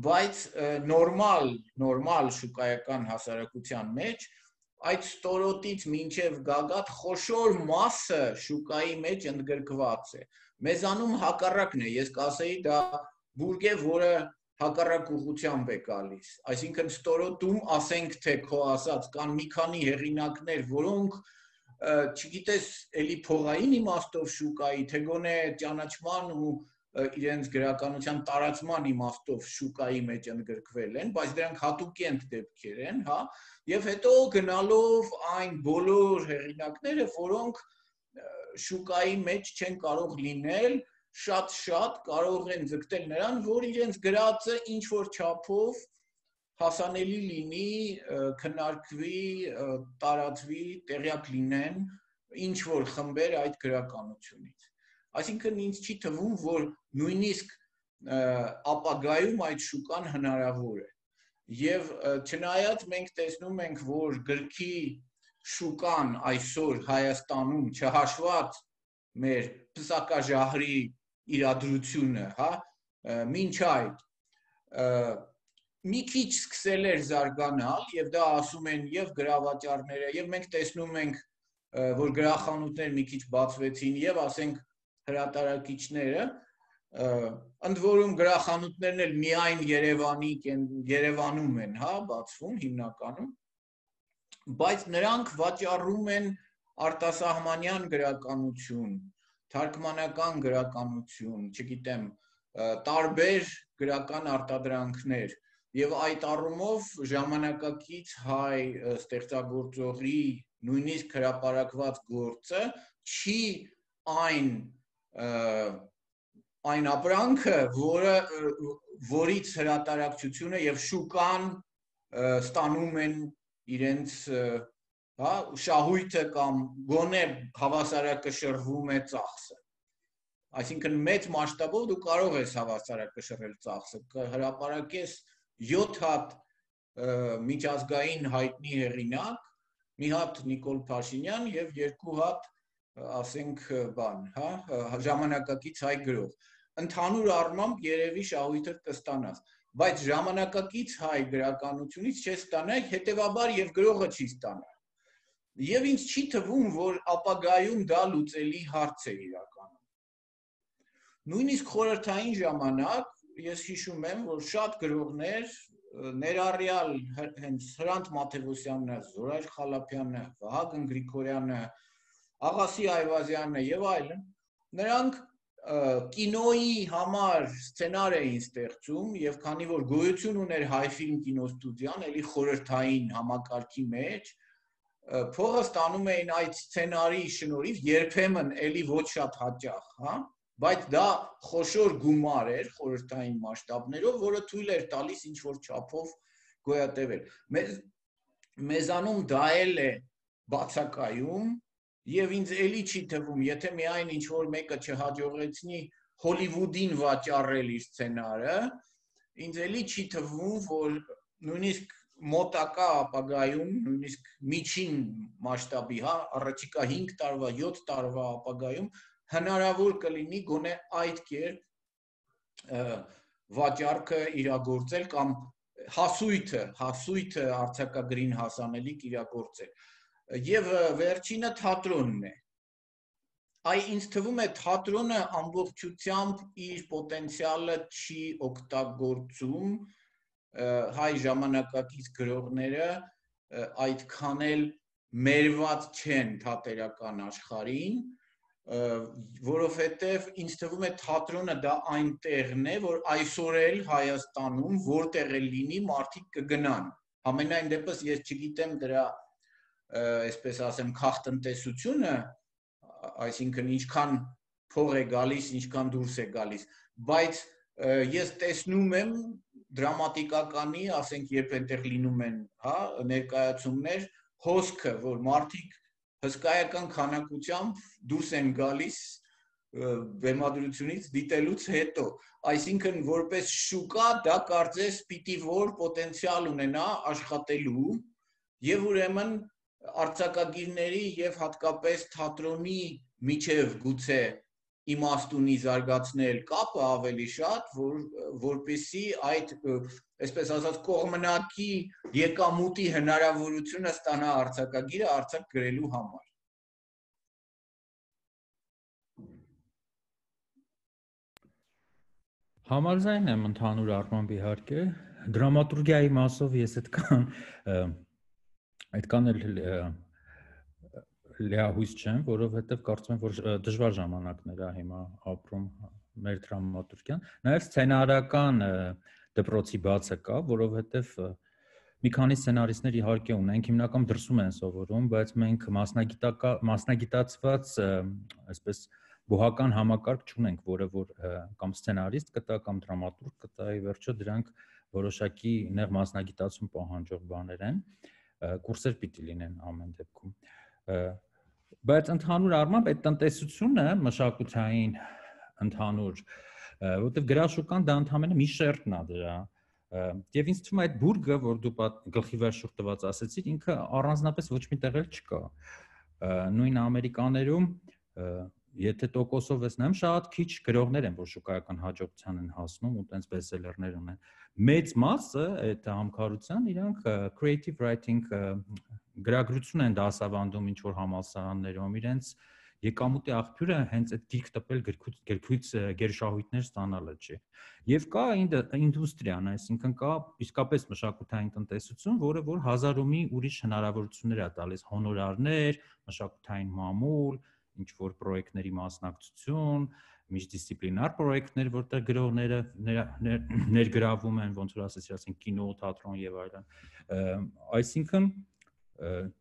բայց նորմալ շուկայական հասարակության մեջ այդ ստորոտից մինչև գագաթ խոշոր մասը շուկայի մեջ ընդգրկված է։ Մեզանում հակառակն է, ես կասեի դա բուրգ է, որը հակառակ ուղղությամբ է գալիս։ Այսինքն ստորոտում ասենք թե քո ասած կան մի քանի հեղինակներ, որոնք չգիտես էլի փողային իմաստով շուկայի, թե գոնե ճանաչման ու իրենց գրականության տարածման իմաստով շուկայի մեջ ընդգրկվել են, բայց դրանք հատուկենտ դեպքեր են, հա, եւ հետո գնալով այն բոլոր հեղինակները, որոնք շուկայի մեջ չեն կարող լինել, շատ կարող են ձգտել նրան, որ իրենց գրածը ինչ որ չափով հասանելի լինի, քննարկվի, տարածվի, տեղյակ լինեն ինչ որ խմբեր այդ գրականությունից։ Այսինքն ինձ չի թվում, որ նույնիսկ ապագայում այդ շուկան հնարավոր է։ Եվ չնայած մենք տեսնում ենք, որ գրքի շուկան այսօր Հայաստանում չհաշված մեր պսակաժահրի իրադրությունը, հա, մինչ այդ մի քիչ սկսել էր զարգանալ եւ դա ասում են եւ գրավաճառները եւ մենք տեսնում ենք, որ գրախանութներ մի քիչ բացվեցին եւ ասենք հրատարակիչները, ընդ որում գրախանութներն էլ միայն Երևանում են, հա, բացվում հիմնականում, բայց նրանք վաճառում են արտասահմանյան գրականություն, թարգմանական գրականություն, չգիտեմ, տարբեր գրական արտադրանքներ եւ այդ առումով ժամանակակից հայ ստեղծագործողի նույնիսկ հրապարակված գործը չի այն ապրանքը, որից հրատարակչությունը եւ շուկան ստանում են իրենց, հա, շահույթը կամ գոնե հավասարակշռվում է ծախսը։ Այսինքն մեծ մասշտաբով դու կարող ես հավասարակշռել ծախսը, հրապարակես 7 հատ միջազգային հայտնի հեղինակ, մի հատ Նիկոլ Փաշինյան եւ երկու հատ ասենք բան, հա, ժամանակակից հայ գրող։ Ընդհանուր առմամբ երևի շահույթը կստանաս, բայց ժամանակակից հայ գրականությունից չես ստանա, հետեւաբար եւ գրողը չի ստանա։ Եվ ինձ չի թվում, որ ապագայում դա լուծելի հարց է իրականում։ Նույնիսկ խորհրդային ժամանակ ես հիշում եմ, որ շատ գրողներ, ներառյալ հենց Հրանտ Մաթևոսյանը, Զորայր Խալափյանը, Վահագն Գրիգորյանը, Աղասի Այվազյանը եւ այլն, նրանք կինոյի համար սցենար էին ստեղծում եւ քանի որ գոյություն ուներ Հայֆիլմ կինոստուդիան, էլի խորհրդային համակարգի մեջ, փողը ստանում էին այդ սցենարի շնորհիվ, երբեմն էլի ոչ շատ հաճախ, հա, բայց դա խոշոր գումար էր խորհրդային մասշտաբներով, որը թույլ էր տալիս ինչ որ չափով գոյատևել։ Մեզանում դա էլ է բացակայում եւ ինձ էլի չի թվում, եթե միայն ինչ որ մեկը չհաջողեցնի Հոլիվուդին վաճառել իր սցենարը, ինձ էլի չի թվում, որ նույնիսկ մոտակա ապագայում, նույնիսկ միջին մասշտաբի, հա, առաջիկա 5 տարվա, 7 տարվա ապագայում հնարավոր կլինի գոնե այդ կերպ վաճառքը իրագործել կամ հասույթը արձակագրին հասանելիք իրագործել։ Եվ վերջինը թատրոնն է։ Ինձ թվում է թատրոնը ամբողջությամբ իր պոտենցիալը չի օգտագործում, հայ ժամանակակից գրողները այդքան էլ մերված չեն թատերական աշխարհին, որովհետև ինձ թվում է թատրոնը դա այն տեղն է, որ այսօր էլ Հայաստանում որտեղ էլ լինի մարդիկ կգնան։ Համենայն դեպս ես չգիտեմ դրա, այսպես ասեմ, քաղտնտեսությունը, այսինքն ինչքան փող է գալիս, ինչքան դուրս է գալիս, բայց ես տեսնում եմ դրամատիկականի, ասենք, երբ այնտեղ լինում են, հա, ներկայացումներ, հոսքը, որ մարդիկ հսկայական քանակությամբ դուրս են գալիս բեմադրությունից դիտելուց հետո, այսինքն որպես շուկա դա կարծես պիտի որ պոտենցիալ ունենա աշխատելու եւ ուրեմն արձակագիրների եւ հատկապես թատրոնի միջև գուցե իմաստունի զարգացնել կապը ավելի շատ, որպեսզի այդ, այսպես ասած, կողմնակի եկամուտի հնարավորությունը ստանա արձակագիրը արձակ գրելու համար։ Համաձայն եմ ընդհանուր առմամբ իհարկե, դրամատուրգիայի մասով ես այդքան էլ լիահույս չեմ, որովհետև կարծում եմ, որ դժվար ժամանակներ է հիմա ապրում մեր դրամատուրգիան, նաև սցենարական դպրոցի բացը կա, որովհետև մի քանի սցենարիստներ իհարկե ունենք, հիմնականում դրսում են սովորում, բայց մենք մասնագիտացված, այսպես բուհական համակարգ չունենք, որը որ կամ սցենարիստ կտա, կամ դրամատուրգ կտա, ի վերջո դրանք որոշակի նեղ մասնագիտացում պահանջող բաներ են, կուրսեր պիտի լինեն ամեն դեպքում։ Բայց ընդհանուր առմամբ այդ տնտեսությունը մշակութային ընդհանուր, որտեղ գրաշուկան դա ընդհանրապես մի շերտն է դրա, եւ ինձ թվում է այդ բուրգը, որ դու գլխի վերջում տված ասեցիր, ինքը առանձնապես ոչ մի տեղ էլ չկա։ Նույն Ամերիկաներում, եթե տոկոսով ես նայում, շատ քիչ գրողներ են, որ շուկայական հաջողության են հասնում ու տենց բեսթսելերներ ունեն։ Մեծ մասը այդ համքարության իրանք creative writing գրագրություն են դասավանդում ինչ որ համալսարաններում, իրենց եկամուտի աղբյուրը հենց այդ դիրք տպել գրքույց գերշահույթներ ստանալը չի։ Եվ կա ինդուստրիան, այսինքն կա իսկապես մշակութային տնտեսություն, որը որ հազար ու մի ուրիշ հնարավորություններ է տալիս, հոնորարներ, մշակութային մամուլ, ինչ որ պրոյեկտների մասնակցություն, միջդիսցիպլինար պրոյեկտներ, որտեղ գրողները ներգրավում են, ոնց որ ասեցի, ասենք կինո, թատրոն եւ այլն։ Այսինքն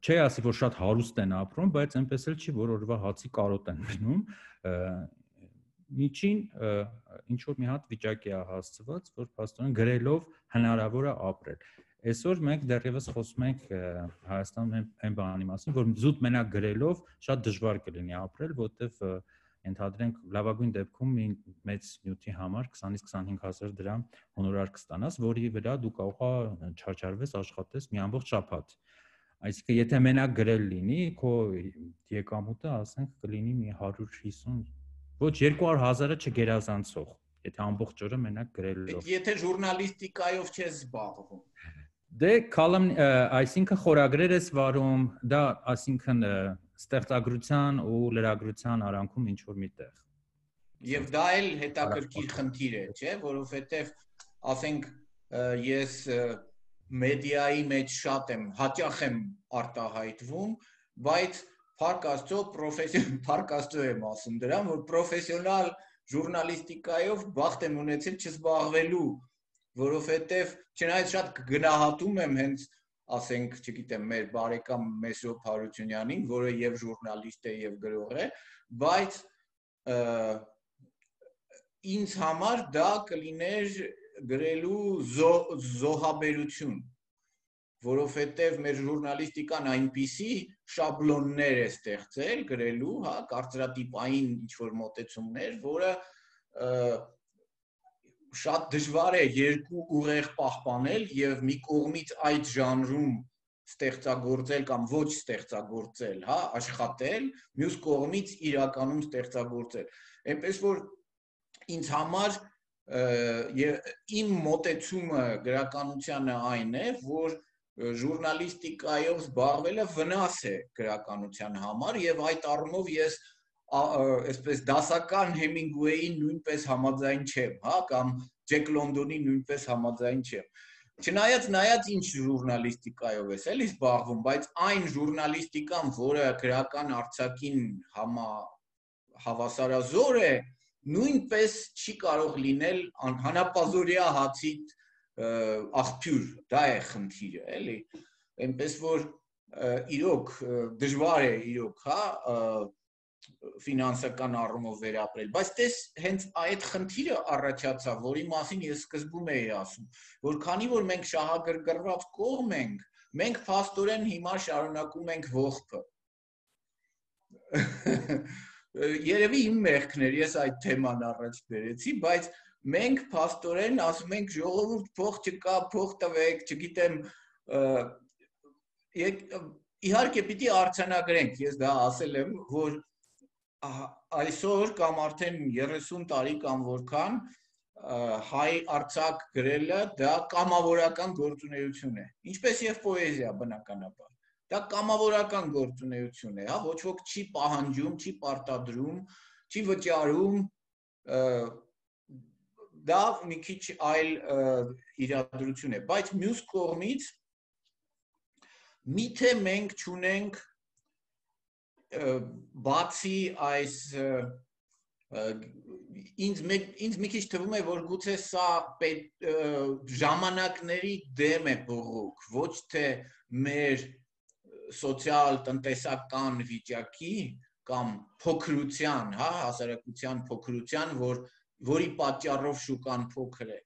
չի ասի, որ շատ հարուստ են ապրում, բայց այնպես էլ չի, որ օրվա հացի կարոտ են գնում։ Միջին ինչ որ մի հատ վիճակի է հասցված, որ փաստորեն գրելով հնարավոր է ապրել։ Այսօր մենք դեռևս խոսում ենք Հայաստանում այն բանի մասին, որ զուտ մենակ գրելով շատ դժվար կլինի ապրել, որովհետև ենթադրենք լավագույն դեպքում մի մեծ նյութի համար 20-ից 25,000 դրամ հոնորար կստանաս, որի վրա դու կարող ես չարչարվես աշխատես մի ամբողջ շաբաթ։ Այսինքն եթե մենակ գրել լինի, քո եկամուտը ասենք կլինի մի 150, ոչ 200,000-ը չգերազանցող, եթե ամբողջ օրը մենակ գրելով։ Եթե ժուրնալիստիկայով չես զբաղվում։ Դե այսինքն խորագրեր ես վարում, դա այսինքն ստեղծագրության ու լրագրության արանքում ինչ որ միտեղ։ Եվ դա էլ հետաքրքիր խնդիր է, չէ, որովհետև ասենք ես մեդիայի մեջ շատ եմ, հաճախ եմ արտահայտվում, բայց փառք Աստծո փառք Աստծո եմ ասում դրան, որ պրոֆեսիոնալ ժուրնալիստիկայով բախտ եմ ունեցել չզբաղվելու, որովհետև չնայած շատ գնահատում եմ հենց ասենք, չգիտեմ, մեր բարեկամ Մեսրոպ Հարությունյանին, որը եւ ժուրնալիստ է եւ գրող է, բայց ինձ համար դա կլիներ գրելու զոհաբերություն, որովհետև մեր ժուրնալիստիկան այնպիսի շաբլոններ է ստեղծել գրելու, հա, կարծրատիպային ինչ-որ մոտեցումներ, որը շատ դժվար է երկու ուղեղ պահպանել եւ մի կողմից այդ ժանրում ստեղծագործել կամ ոչ ստեղծագործել, հա, աշխատել, մյուս կողմից իրականում ստեղծագործել։ Այնպես որ ինձ համար իմ մոտեցումը գրականությանը այն է, որ ժուրնալիստիկայով զբաղվելը վնաս է գրականության համար եւ այդ առումով ես այսպես դասական Հեմինգուեյին նույնպես համաձայն չեմ, հա, կամ Ջեք Լոնդոնի նույնպես համաձայն չեմ։ Չնայած նայած ինչ ժուրնալիստիկայով ես էլի զբաղվում, բայց այն ժուրնալիստիկան, որը գրական արձակին հավասարազոր է, նույնպես չի կարող լինել հանապազորյա հացի աղբյուր, դա է խնդիրը, էլի։ Այնպես որ իրոք դժվար է իրոք, հա, ֆինանսական առումով վերապրել, բայց տես հենց այդ խնդիրը առաջացավ, որի մասին ես սկզբում էի ասում, որ քանի որ մենք շահագրգռված կողմ ենք, մենք փաստորեն հիմա շարունակում ենք ողբը։ Երևի իմ մեղքներ, ես այդ թեման առաջ բերեցի, բայց մենք փաստորեն ասում ենք ժողովուրդ փող չկա, փող տվեք, չգիտեմ, իհարկե պիտի արձանագրենք, ես դա ասել եմ, որ այսօր կամ արդեն 30 տարի կամ որքան հայ արձակ գրելը դա կամավորական գործունեություն է, ինչպես եւ պոեզիա բնականաբար, դա կամավորական գործունեություն է, հա, ոչ ոք չի պահանջում, չի պարտադրում, չի վճարում, դա մի քիչ այլ իրադրություն է, բայց մյուս կողմից միթե մենք չունենք բացի այս ինձ մի քիչ թվում է, որ գուցե սա ժամանակների դեմ է բողոք, ոչ թե մեր սոցիալ-տնտեսական վիճակի կամ փոքրության, հա, հասարակության փոքրության, որի պատճառով շուկան փոքր է,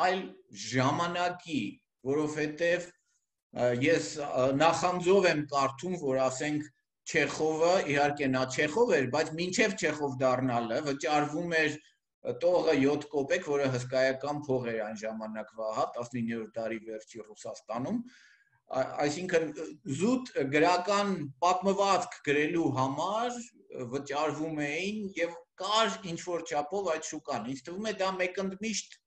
այլ ժամանակի, որովհետև ես նախանձով եմ կարդում, որ ասենք Չեխովը, իհարկե նա Չեխով էր, բայց մինչև Չեխով դառնալը վճարվում էր տողը 7 կոպեկ, որը հսկայական փող էր այն ժամանակվա, հա, 19-րդ դարի վերջի Ռուսաստանում, այսինքն զուտ գրական պատմվածք գրելու համար վճարվում էին եւ կար ինչ-որ չափով այդ շուկան։ Ինձ թվում է դա մեկընդմիշտ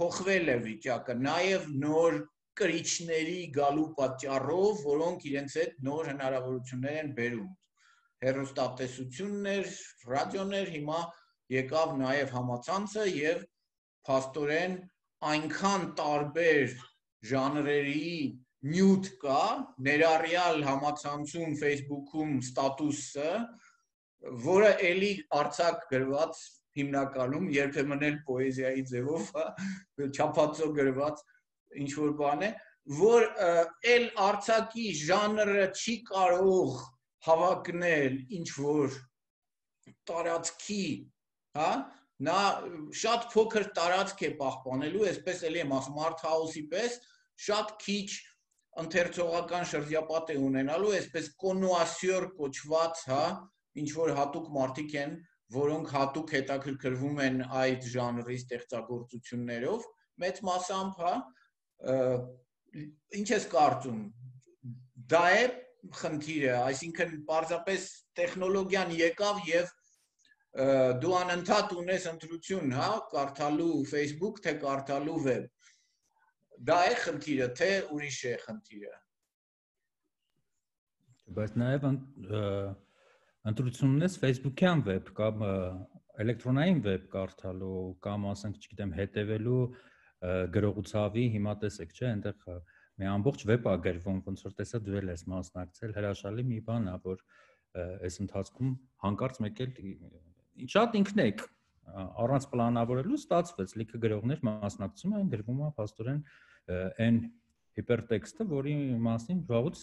փոխվել է վիճակը, նաեւ նոր կրիչների գալու պատճառով, որոնք իրենց հետ նոր հնարավորություններ են բերում։ Հեռուստատեսություններ, ռադիոներ, հիմա եկավ նաև համացանցը եւ փաստորեն այնքան տարբեր ժանրերի նյութ կա, ներառյալ համացանցում, Facebook-ում ստատուսը, որը էլի արձակ գրված հիմնականում երբեմն էլ պոեզիայի ձևով, չափածո գրված ինչ-որ բան է, որ էլ արձակի ժանրը չի կարող հավակնել ինչ-որ տարածքի, հա, նա շատ փոքր տարածք է պահպանելու, այսպես էլի եմ ասում, art house-ի պես, շատ քիչ ընթերցողական շրջապատ է ունենալու, այսպես կոնուասյոր կոչված, հա, ինչ-որ հատուկ մարդիկ են, որոնք հատուկ հետաքրքրվում են այդ ժանրի ստեղծագործություններով, մեծ մասամբ, հա, ինչ ես կարծում, դա է խնդիրը, այսինքն պարզապես տեխնոլոգիան եկավ եւ դու անընդհատ ունես ընտրություն, հա, կարդալու Facebook, թե կարդալու web։ Դա է խնդիրը, թե ուրիշ է խնդիրը։ Բայց նաև ընտրությունն ես Facebook-յան web կամ էլեկտրոնային web կարդալու կամ ասենք, չգիտեմ, հետևելու գրողուցավի, հիմա տեսեք, չէ, այնտեղ մի ամբողջ web է գրվում, ոնց որ տեսա դու ես մասնակցել, հրաշալի մի բան է, որ այս ընթացքում հանկարծ մեկ էլ շատ ինքնեք առանց պլանավորելու ստացվեց, լիքը գրողներ մասնակցում են, գրվում է փաստորեն այն հիպերտեքստը, որի մասին վաղուց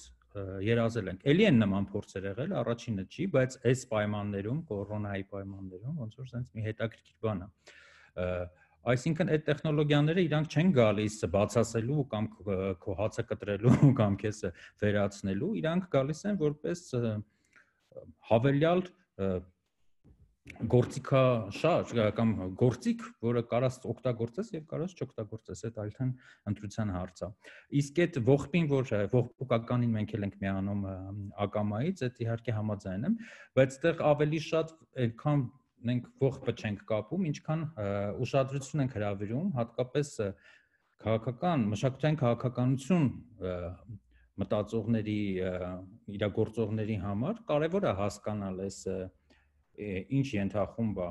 երազել ենք։ Էլի են նման փորձեր եղել, առաջինը չի, բայց այս պայմաններում, կորոնայի պայմաններում, ոնց որ sense մի հետաքրքիր բան է։ Այսինքն այդ տեխնոլոգիաները իրանք չեն գալիս բացասելու կամ քո հացը կտրելու կամ քեզ վերացնելու, իրանք գալիս են որպես հավելյալ գործիքաշարժ կամ գործիք, որը կարաս օգտագործես եւ կարաս չօգտագործես, այդ այլթեն ընտրության հարց է։ Իսկ այդ ողբին, որ ողբուկականին մենք էլ ենք միանում ակամայից, այդ իհարկե համաձայն եմ, բայց այդտեղ ավելի շատ այնքան մենք ողբը չենք կապում, ինչքան ուշադրություն ենք հրավիրում, հատկապես քաղաքական, մշակութային քաղաքականություն մտածողների, իրագործողների համար կարևոր է հասկանալ այս ինչ ենթախումբ է,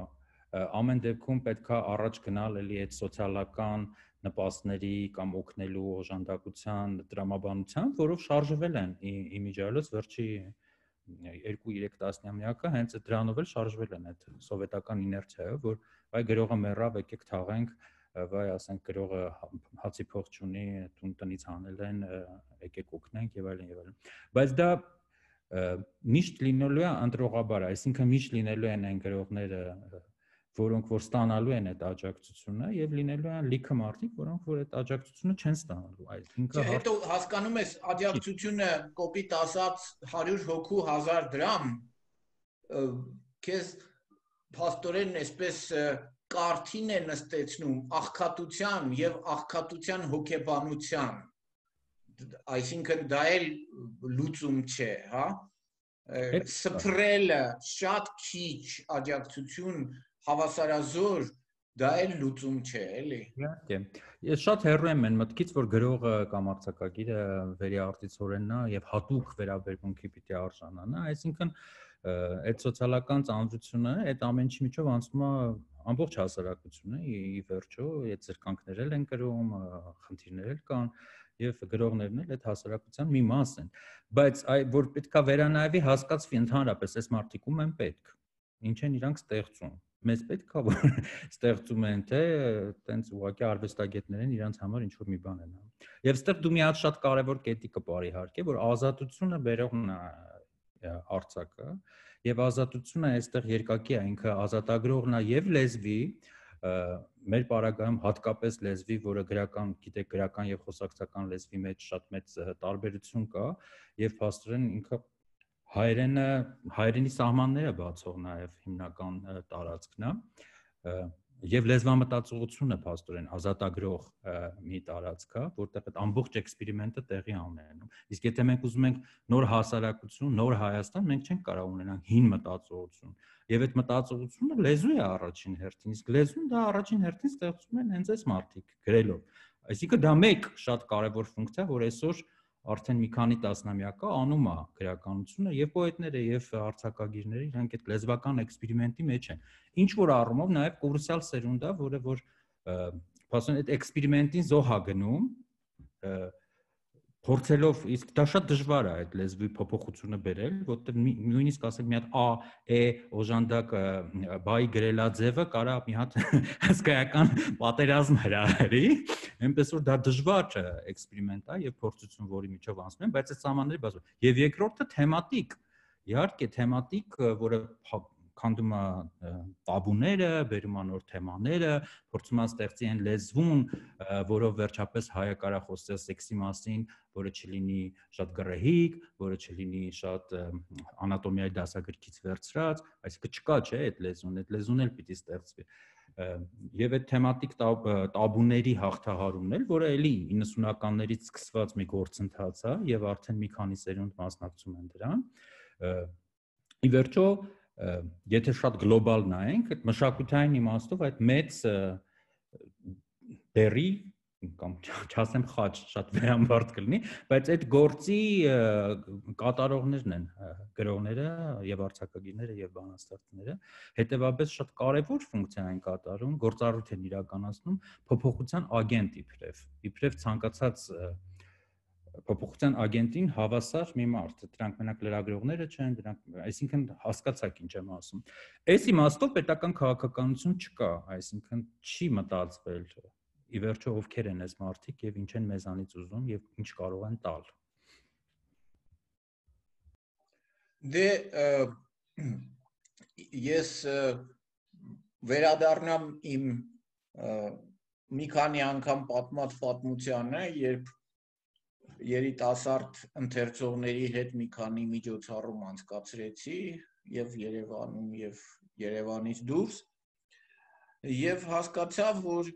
ամեն դեպքում պետք է առաջ գնալ էլի այդ սոցիալական նպաստների կամ օգնելու օժանդակության, տրամաբանության, որով շարժվել են իմիջիայլոց վերջի 2-3 տասնամյակը հենց դրանով էլ շարժվել են այդ սովետական իներցիայով, որ այ գրողը մեռավ, եկեք թաղենք, վայ ասենք գրողը հացի փող չունի, տնից հանել են, եկեք օգնենք եւ այլն եւ այլն։ Բայց դա միշտ լինելու է ընտրողաբար, այսինքն միշտ լինելու են այն գրողները, որոնք որ ստանալու են այդ աջակցությունը եւ լինելու են լիքը մարդիկ, որոնք որ այդ աջակցությունը չեն ստանալու, այսինքն հետո հասկանում ես աջակցությունը կոպիտ ասած 100 հոգու 1000 դրամ քեզ փաստորեն այսպես կարթին է նստեցնում աղքատության եւ աղքատության հոգեբանության, այսինքն դա էլ լուծում չէ, հա, սփռելը շատ քիչ աջակցություն հավասարազոր դա էլ լուծում չէ, էլի։ Իհարկե։ Ես շատ հեռու եմ այն մտքից, որ գրողը կամ արձակագիրը վերիարտիցորենն է եւ հատուկ վերաբերմունքի պիտի արժանանա, այսինքն այդ սոցիալական ծանոթությունը այդ ամեն ինչի միջով անցնում է ամբողջ հասարակությունը, ի վերջո, այդ զրկանքներ են կրում, խնդիրներ էլ կան եւ գրողներն էլ այդ հասարակության մի մաս են, բայց որ պետքա վերանայվի հասկացվի ընդհանրապես այս մարդիկ ում են պետք, ինչ են իրանք ստեղծում, մեզ պետքա որ ստեղծում են, թե տենց ուղղակի արվեստագետներ են իրանք համար ինչ որ մի բան են անում։ Եվ այստեղ դու մի հատ շատ կարևոր կետի կպարի իհարկե, որ ազատությունը բերողն է արձակը եւ ազատությունը այստեղ երկակի է, ինքը ազատագրողն է եւ լեզվի, մեր պարագայում հատկապես լեզվի, որը գրական, գիտեք, գրական եւ խոսակցական լեզվի մեջ շատ մեծ տարբերություն կա եւ փաստորեն ինքը հայերենի սահմանները բացող նաեւ հիմնական տարածքն է եւ լեզվամտածողությունը փաստորեն ազատագրող մի տարածք է, որտեղ այդ ամբողջ էքսպերիմենտը տեղի ունենում։ Իսկ եթե մենք ուզում ենք նոր հասարակություն, նոր Հայաստան, մենք չենք կարող ունենալ հին մտածողություն։ Եվ այդ մտածողությունը լեզու է առաջին հերթին, իսկ լեզուն դա առաջին հերթին ստեղծում են հենց այս մարդիկ գրելով։ Այսինքն դա մեկ շատ կարևոր ֆունկցիա, որ այսօր արդեն մի քանի տասնամյակա անում է գրականությունը եւ պոետները եւ արձակագիրները իրանք այդ լեզվական էքսպերիմենտի մեջ են։ Ինչ որ առումով նաեւ կուրսալ սերունդ է, որը որ փաստորեն այդ էքսպերիմենտին զոհ է գնում, փորձելով, իսկ դա շատ դժվար է այդ լեզվի փոփոխությունը բերել, որտեղ նույնիսկ ասենք մի հատ ա, է օժանդակ բայ գրելաձևը կարա մի հատ հսկայական պատերազմ հրահրի, այնպես որ դա դժվար էքսպերիմենտ է եւ փորձություն, որի միջով անցնում են, բայց այդ սահմանները բացվում։ Եվ երկրորդը թեմատիկ, իհարկե թեմատիկ, որը քանդում է տաբուները, բերում է նոր թեմաները, փորձում է ստեղծի այն լեզվուն, որով վերջապես հայը կարա խոսի սեքսի մասին, որը չլինի շատ գռեհիկ, որը չլինի շատ անատոմիայի դասագրքից վերցրած, այսինքն չկա, չէ, այդ լեզուն էլ պիտի ստեղծվի։ Եվ այդ թեմատիկ տաբուների հաղթահարումն էլ, որը էլի 90-ականներից սկսված մի գործընթաց է եւ արդեն մի քանի սերունդ մասնակցում են դրան։ Ի վերջո, եթե շատ գլոբալ նայենք, այդ մշակութային իմաստով այդ մեծ դերի կամ չասեմ խաչ, շատ վերամբարձ կլինի, բայց այդ գործի կատարողներն են գրողները եւ արձակագիրները եւ բանաստեղծները, հետեւաբար շատ կարեւոր ֆունկցիա են կատարում, գործառույթ են իրականացնում փոփոխության ագենտ իբրև ցանկացած փոփոխության ագենտին հավասար մի մարդ, դրանք մենակ լրագրողները չեն, դրանք, այսինքն հասկացաք ինչ եմ ասում։ Այս իմաստով պետական քաղաքականություն չկա, այսինքն չի մտածվել ի վերջո ովքեր են այս մարդիկ եւ ինչ են մեզանից ուզում եւ ինչ կարող են տալ։ Դե ես վերադառնամ իմ մի քանի անգամ պատմած պատմությանը, երբ երիտասարդ ընթերցողների հետ մի քանի միջոցառում անցկացրեցի եւ Երևանում եւ Երևանից դուրս եւ հասկացա, որ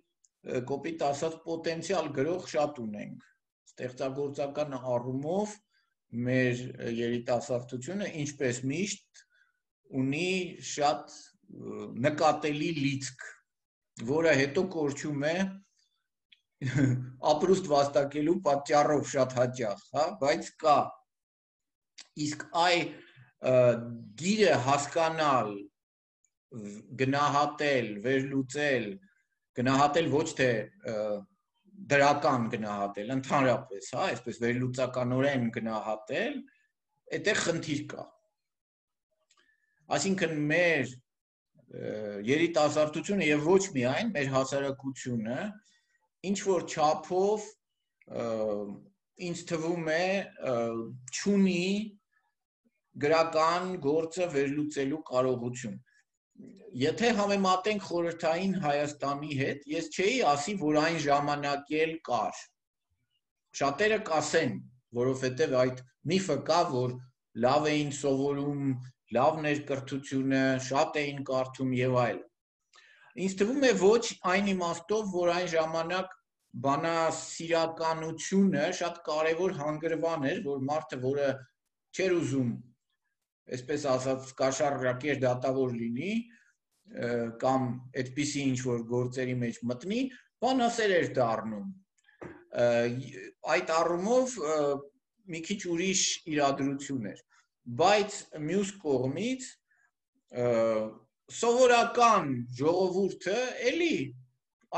կոպիտ ասած պոտենցիալ գրող շատ ունենք, ստեղծագործական առումով մեր երիտասարդությունը ինչպես միշտ ունի շատ նկատելի լիցք, որը հետո կորչում է ապրուստ վաստակելու պատճառով շատ հաճախ, հա, բայց կա, իսկ գիրը հասկանալ, գնահատել, վերլուծել, գնահատել ոչ թե դրական գնահատել, ընդհանրապես, հա, այսպես վերլուծականորեն գնահատել, այդտեղ խնդիր կա։ Այսինքն մեր երիտասարդությունը եւ ոչ միայն մեր հասարակությունը ինչ որ չափով ինձ թվում է չունի գրական գործը վերլուծելու կարողություն։ Եթե համեմատենք խորհրդային Հայաստանի հետ, ես չէի ասի, որ այն ժամանակ էլ կար։ Շատերը կասեն, որովհետև այդ միֆը կա, որ լավ էին սովորում, լավն էր կրթությունը, շատ էին կարդում եւ այլն։ Ինձ թվում է ոչ այն իմաստով, որ այն ժամանակ բանասիրականությունը շատ կարևոր հանգրվան էր, որ մարդը, որը չէր ուզում, այսպես ասած, կաշառակեր դատավոր լինի, կամ այդպիսի ինչ-որ գործերի մեջ մտնի, բանասեր էր դառնում։ Այդ առումով մի քիչ ուրիշ իրադրություն էր, բայց մյուս կողմից սովորական ժողովուրդը էլի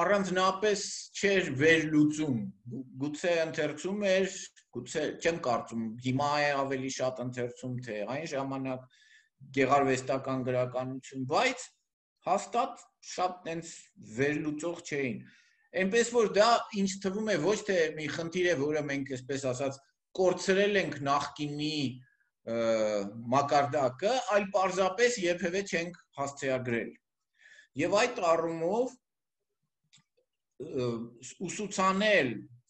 առանձնապես չէր վերլուծում, գուցե ընթերցում էր, գուցե չեմ կարծում, հիմա է ավելի շատ ընթերցում, թե այն ժամանակ գեղարվեստական գրականություն, բայց հաստատ շատ տենց վերլուծող չէին։ Այնպես որ դա ինձ թվում է ոչ թե մի խնդիր է, որը մենք այսպես ասած կորցրել ենք նախկինի մակարդակը, այլ պարզապես երբևէ չենք հասցեագրել։ Եվ այդ առումով ուսուցանել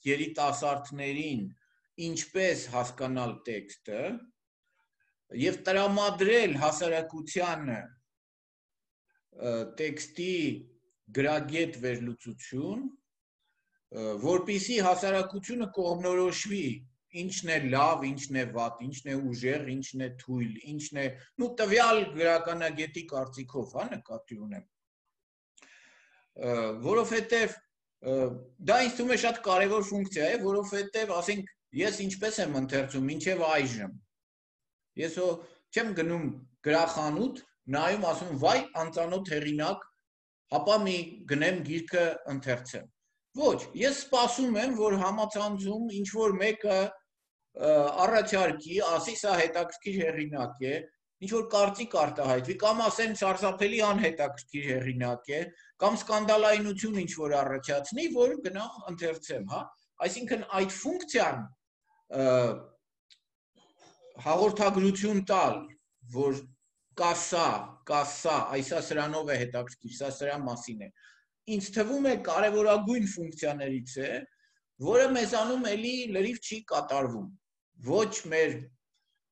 երիտասարդներին ինչպես հասկանալ տեքստը եւ տրամադրել հասարակությանը տեքստի գրագետ վերլուծություն, որպեսզի հասարակությունը կողմնորոշվի ինչն է լավ, ինչն է վատ, ինչն է ուժեղ, ինչն է թույլ, ինչն է, տվյալ գրականագետի կարծիքով, հա, նկատի ունեմ։ Որովհետև դա ինձ թվում է շատ կարևոր ֆունկցիա է, որովհետև, ասենք, ես ինչպես եմ ընթերցում, մինչև այժմ։ Ես չեմ գնում գրախանութ, նայում ասում, վայ, անծանոթ հեղինակ, հապա մի գնեմ գիրքը ընթերցեմ։ Ոչ, ես սպասում եմ, որ համացանցում ինչ-որ մեկը առաջարկի, ասի, սա հետաքրքիր հեղինակ է, ինչ-որ կարծիք արտահայտվի, կամ ասեն սարսափելի անհետաքրքիր հեղինակ է, կամ սկանդալայնություն ինչ-որ առաջացնի, որ գնամ ընթերցեմ, հա։ Այսինքն այդ ֆունկցիան հաղորդագրություն տալ, որ կա սա, այսա սրանով է հետաքրքիր, սա սրա մասին է։ Ինձ թվում է կարևորագույն ֆունկցիաներից է, որը մեզանում էլի լրիվ չի կատարվում։ Ոչ մեր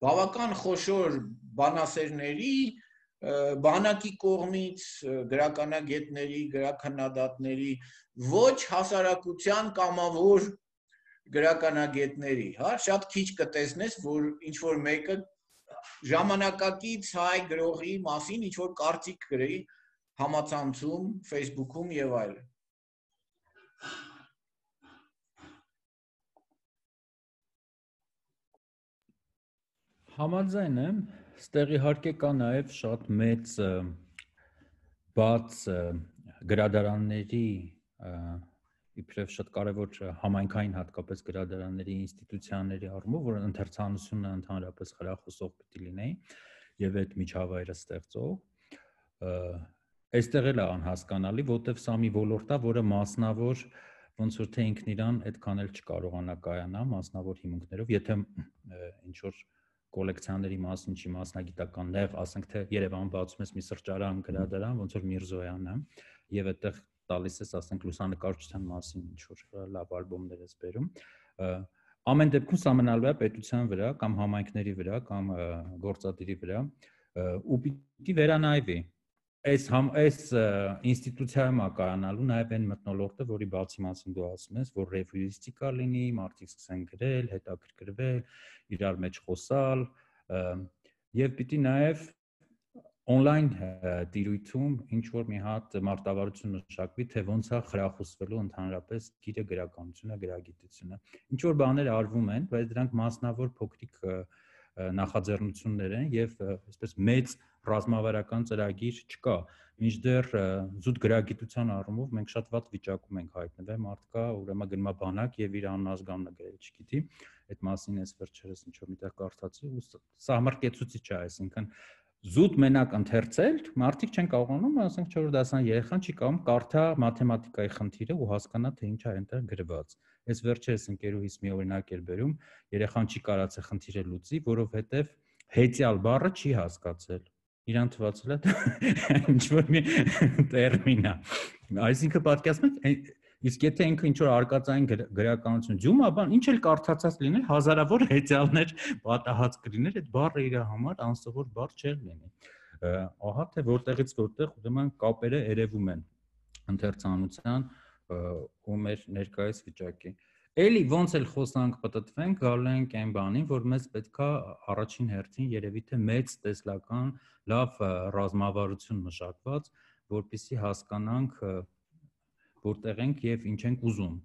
բավական խոշոր բանասերների, բանակի կողմից, գրականագետների, գրաքննադատների, ոչ հասարակության կամավոր գրականագետների, հա, շատ քիչ կտեսնես, որ ինչ որ մեկը ժամանակակից հայ գրողի մասին ինչ որ կարծիք գրի համացանցում, Facebook-ում եւ այլն։ Համաձայն եմ, ստեղ իհարկե կա նաև շատ մեծ բաց գրադարանների իբրև շատ կարևոր համայնքային հատկապես գրադարանների ինստիտուցիաների առումով, որ ընթերցանությունը ընդհանրապես խրախուսող պիտի լինեին եւ այդ միջավայրը ստեղծող, այստեղ էլ է անհասկանալի, որտեվ սա մի ոլորտ է, որը մասնավոր ոնց որ թե ինքն իրան այդքան էլ չկարողանա կայանա մասնավոր հիմունքներով, եթե ինչ որ կոլեկցիաների մասին չի մասնագիտական նեղ, ասենք թե Երևան բացում ես մի սրճարան, գրադարան, ոնց որ Միրզոյանը, եւ այդտեղ տալիս ես, ասենք լուսանկարչության մասին ինչ որ լավ ալբոմներ ես բերում, ամեն դեպքում սա մնալու է պետության վրա կամ համայնքների վրա կամ գործադիրի վրա ու պիտի վերանայվի այս ինստիտուցիայում կայանալու նաև այն մթնոլորտը, որի բացի մասին դու ասում ես, որ ռևյուիստիկա լինի, մարդիկ սկսեն գրել, հետաքրքրվել, իրար մեջ խոսալ, եւ պիտի նաև on-line տիրույթում ինչ որ մի հատ մարտավարություն մշակվի, թե ոնց է խրախուսվելու ընդհանրապես գիրը գրականությունը, գրագիտությունը։ Ինչ որ բաներ արվում են, բայց դրանք մասնավոր փոքրիկ նախաձեռնություններ են եւ այսպես մեծ ռազմավարական ծրագիր չկա, մինչդեռ զուտ գրագիտության առումով մենք շատ վատ վիճակում ենք հայտնվել, մարդկա ուրեմն գնում է բանակ եւ իր անազգանունը գրել, չգիտի, այդ մասին էս վերջերս ինչ որ միտեղ կարդացի ու սա համարկեցուցիչ է, այսինքն զուտ մենակ ընթերցել, մարդիկ չեն կարողանում, ասենք 4 դասան երեխան չի կարողում կարդա մաթեմատիկայի խնդիրը ու հասկանա թե ինչ է այնտեղ գրված։ Այս վերջերս ընկերուհիս մի օրինակ էր բերում, երեխան չի կարացել խնդիրը լուծի, որովհետեւ հեծյալ բառը չի հասկացել։ Իրան թվացել է ինչ որ մի տերմին է։ Այսինքն պատկերացնում եք, իսկ եթե ինքը ինչ որ արկածային գրականություն ջում, բան ինչ էլ կարդացած լիներ, հազարավոր հեծյալներ պատահած կլիներ, այդ բառը իր համար անսովոր բառ չէր լինի։ Ահա թե որտեղից որտեղ ուրեմն կապերը երևում են ընթերցանության ու մեր ներկայիս վիճակի։ Էլի ոնց էլ խոսանք պատտվենք, գալու ենք այն բանին, որ մեզ պետքա առաջին հերթին երևի թե մեծ տեսլական լավ ռազմավարություն մշակված, որպեսզի հասկանանք որտեղ ենք եւ ինչ ենք ուզում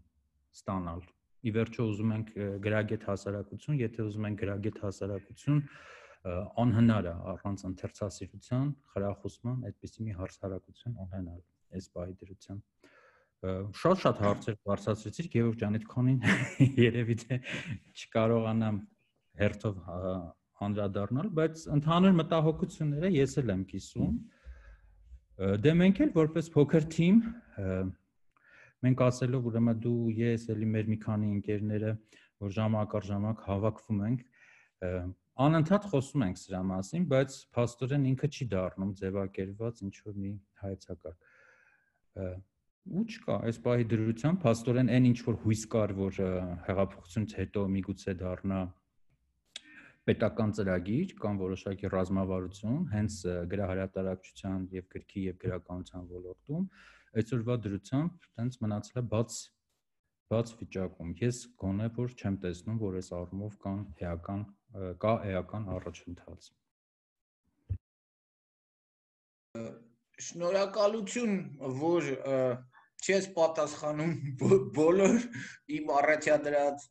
ստանալ։ Ի վերջո ուզում ենք գրագետ հասարակություն, եթե ուզում ենք գրագետ հասարակություն, անհնար է առանց ընթերցասիրության, խրախուսման այդպիսի մի հասարակություն ունենալ այս պահի դրությամբ։ Շատ հարցեր բարձրացրեցիք, Գևորգ ջան, այդքանին երևի թե չկարողանամ հերթով անդրադառնալ, բայց ընդհանուր մտահոգությունները ես էլ եմ կիսում։ Դե մենք էլ որպես փոքր թիմ մենք ասելով ուրեմն դու ես էլի մեր մի քանի ընկերները, որ ժամանակ առ ժամանակ հավաքվում ենք, անընդհատ խոսում ենք սրա մասին, բայց փաստորեն ինքը չի դառնում ձևակերպված ինչ որ մի հայեցակարգ։ Ու չկա, այս պահի դրությամբ փաստորեն այն ինչ որ հույս կար, որ հեղափոխությունից հետո միգուցե դառնա պետական ծրագիր կամ որոշակի ռազմավարություն, հենց գրահրատարակչության եւ գրքի եւ գրականության ոլորտում, այսօրվա դրությամբ տենց մնացել է բաց վիճակում։ Ես գոնե որ չեմ տեսնում, որ այս առումով կա էական առաջընթաց։ Շնորհակալություն, որ չես պատասխանում բոլոր իմ առաջադրած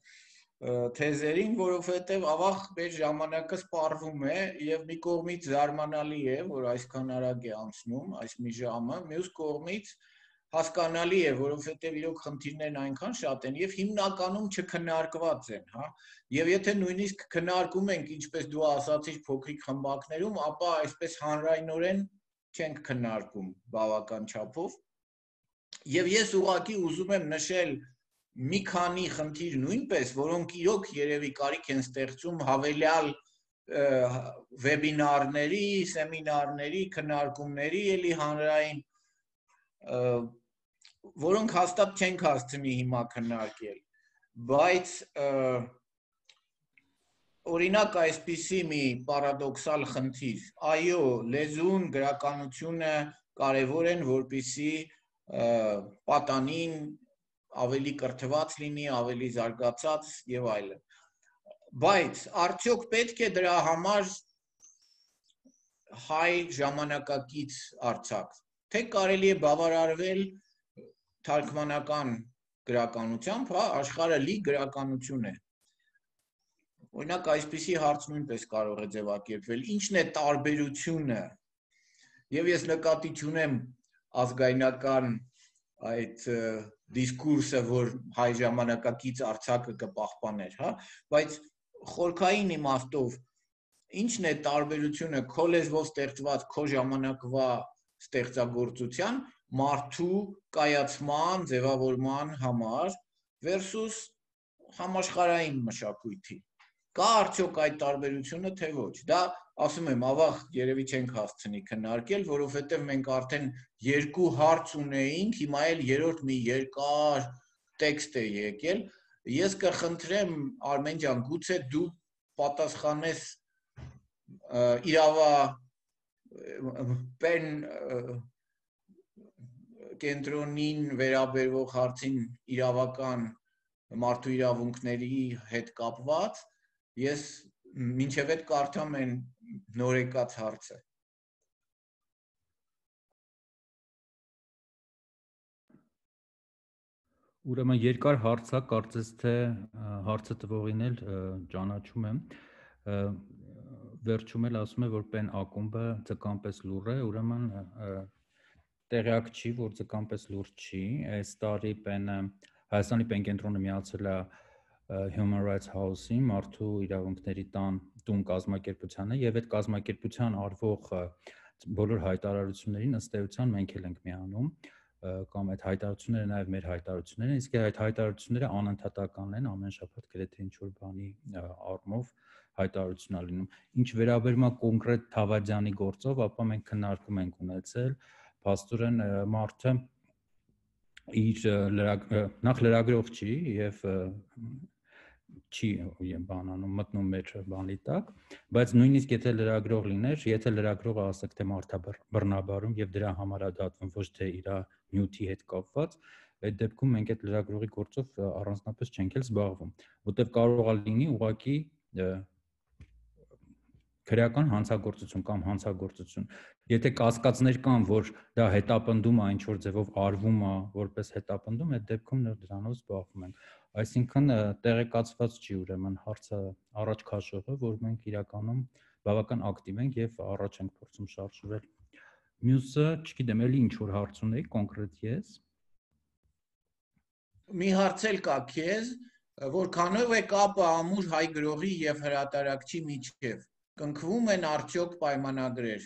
թեզերին, որովհետև ավաղ մեր ժամանակը սպառվում է եւ մի կողմից զարմանալի է, որ այսքան արագ է անցնում այս մի ժամը, մյուս կողմից հասկանալի է, որովհետև իրոք խնդիրներն այնքան շատ են եւ հիմնականում չքննարկված են, հա։ Եվ եթե նույնիսկ քննարկում ենք, ինչպես դու ասացիր, փոքրիկ խմբակներում, ապա այսպես հանրայնորեն չենք քննարկում բավական չափով։ Եվ ես ուղղակի ուզում եմ նշել մի քանի խնդիր նույնպես, որոնք իրոք երևի կարիք են ստեղծում հավելյալ վեբինարների, սեմինարների, քննարկումների, էլի հանրային, որոնք հաստատ չենք հասցնի հիմա քննարկել, բայց օրինակ այսպիսի մի պարադոքսալ խնդիր, այո, լեզուն, գրականությունը կարևոր են, որպեսզի պատանին ավելի կրթված լինի, ավելի զարգացած եւ այլն։ Բայց արդյոք պետք է դրա համար հայ ժամանակակից արձակ, թե կարելի է բավարարվել թարգմանական գրականությամբ, հա, աշխարհը լի գրականություն է։ Օրինակ այսպիսի հարց նույնպես կարող է ձևակերպվել, ինչն է տարբերությունը։ Եվ ես նկատի չունեմ ազգայնական այդ դիսկուրսը, որ հայ ժամանակակից արձակը կպահպաներ, հա, բայց խորքային իմաստով ինչն է տարբերությունը քո լեզվով ստեղծված քո ժամանակվա ստեղծագործության մարդու կայացման, ձևավորման համար versus համաշխարհային մշակույթի։ Կա արդյոք այդ տարբերությունը, թե ոչ։ Դա ասում եմ, ավաղ երևի չենք հասցնի քննարկել, որովհետև մենք արդեն երկու հարց ունեինք, հիմա էլ երրորդ մի երկար տեքստ է եկել։ Ես կխնդրեմ Արմեն ջան, գուցե դու պատասխանես իրավապեն կենտրոնին վերաբերող հարցին իրավական մարդու իրավունքների հետ կապված, ես մինչև այդ կարդամ են նորեկած հարցը։ Ուրեմն երկար հարցա, կարծես թե հարցը տվողին էլ ճանաչում եմ, վերջում էլ ասում է, որ պեն ակումբը ձկանպես լուր է, ուրեմն տեղյակ չի, որ ձկանպես լուր չի, այս տարի պենը Հայաստանի պենկենտրոնը միացել է Human Rights House-ին, մարդու իրավունքների տուն կազմակերպությանը, եւ այդ կազմակերպության արվող բոլոր հայտարարություններին ըստ էության մենք էլ ենք միանում, կամ այդ հայտարարությունները նաեւ մեր հայտարարություններն են, իսկ այդ հայտարարությունները անընդհատական են, ամեն շաբաթ գրեթե ինչ-որ բանի առումով հայտարարություն լինում։ Ինչ վերաբերում է կոնկրետ Թավադյանի գործով, ապա մենք քննարկում ենք ունեցել, փաստորեն մարդը իր նախ լրագրող չի եւ չի բանանում մտնում մեր բանի տակ, բայց նույնիսկ եթե լրագրող լիներ, եթե լրագրողը ասեք թե մարդաբռնաբարում եւ դրա համար է դատվում ոչ թե իր նյութի հետ կապված, այդ դեպքում մենք այդ լրագրողի գործով առանձնապես չենք էլ զբաղվում, որտեղ կարող է լինի ուղղակի քրեական հանցագործություն կամ հանցագործություն։ Եթե կասկածներ կան, որ դա հետապնդում է, ինչ որ ձևով արվում է, որպես հետապնդում, այդ դեպքում դրանով զբաղվում ենք։ Այսինքն տեղեկացված չի ուրեմն հարցը առաջ քաշողը, որ մենք իրականում բավական ակտիվ ենք եւ առաջ ենք փորձում շարժվել։ Մյուսը, չգիտեմ, էլի ինչ որ հարց ունեի կոնկրետ ես։ Մի հարց էլ կա քեզ, որքանով է կապը ամուր հայ գրողի եւ հրատարակչի միջեւ։ Կնքվում են արդյոք պայմանագրեր։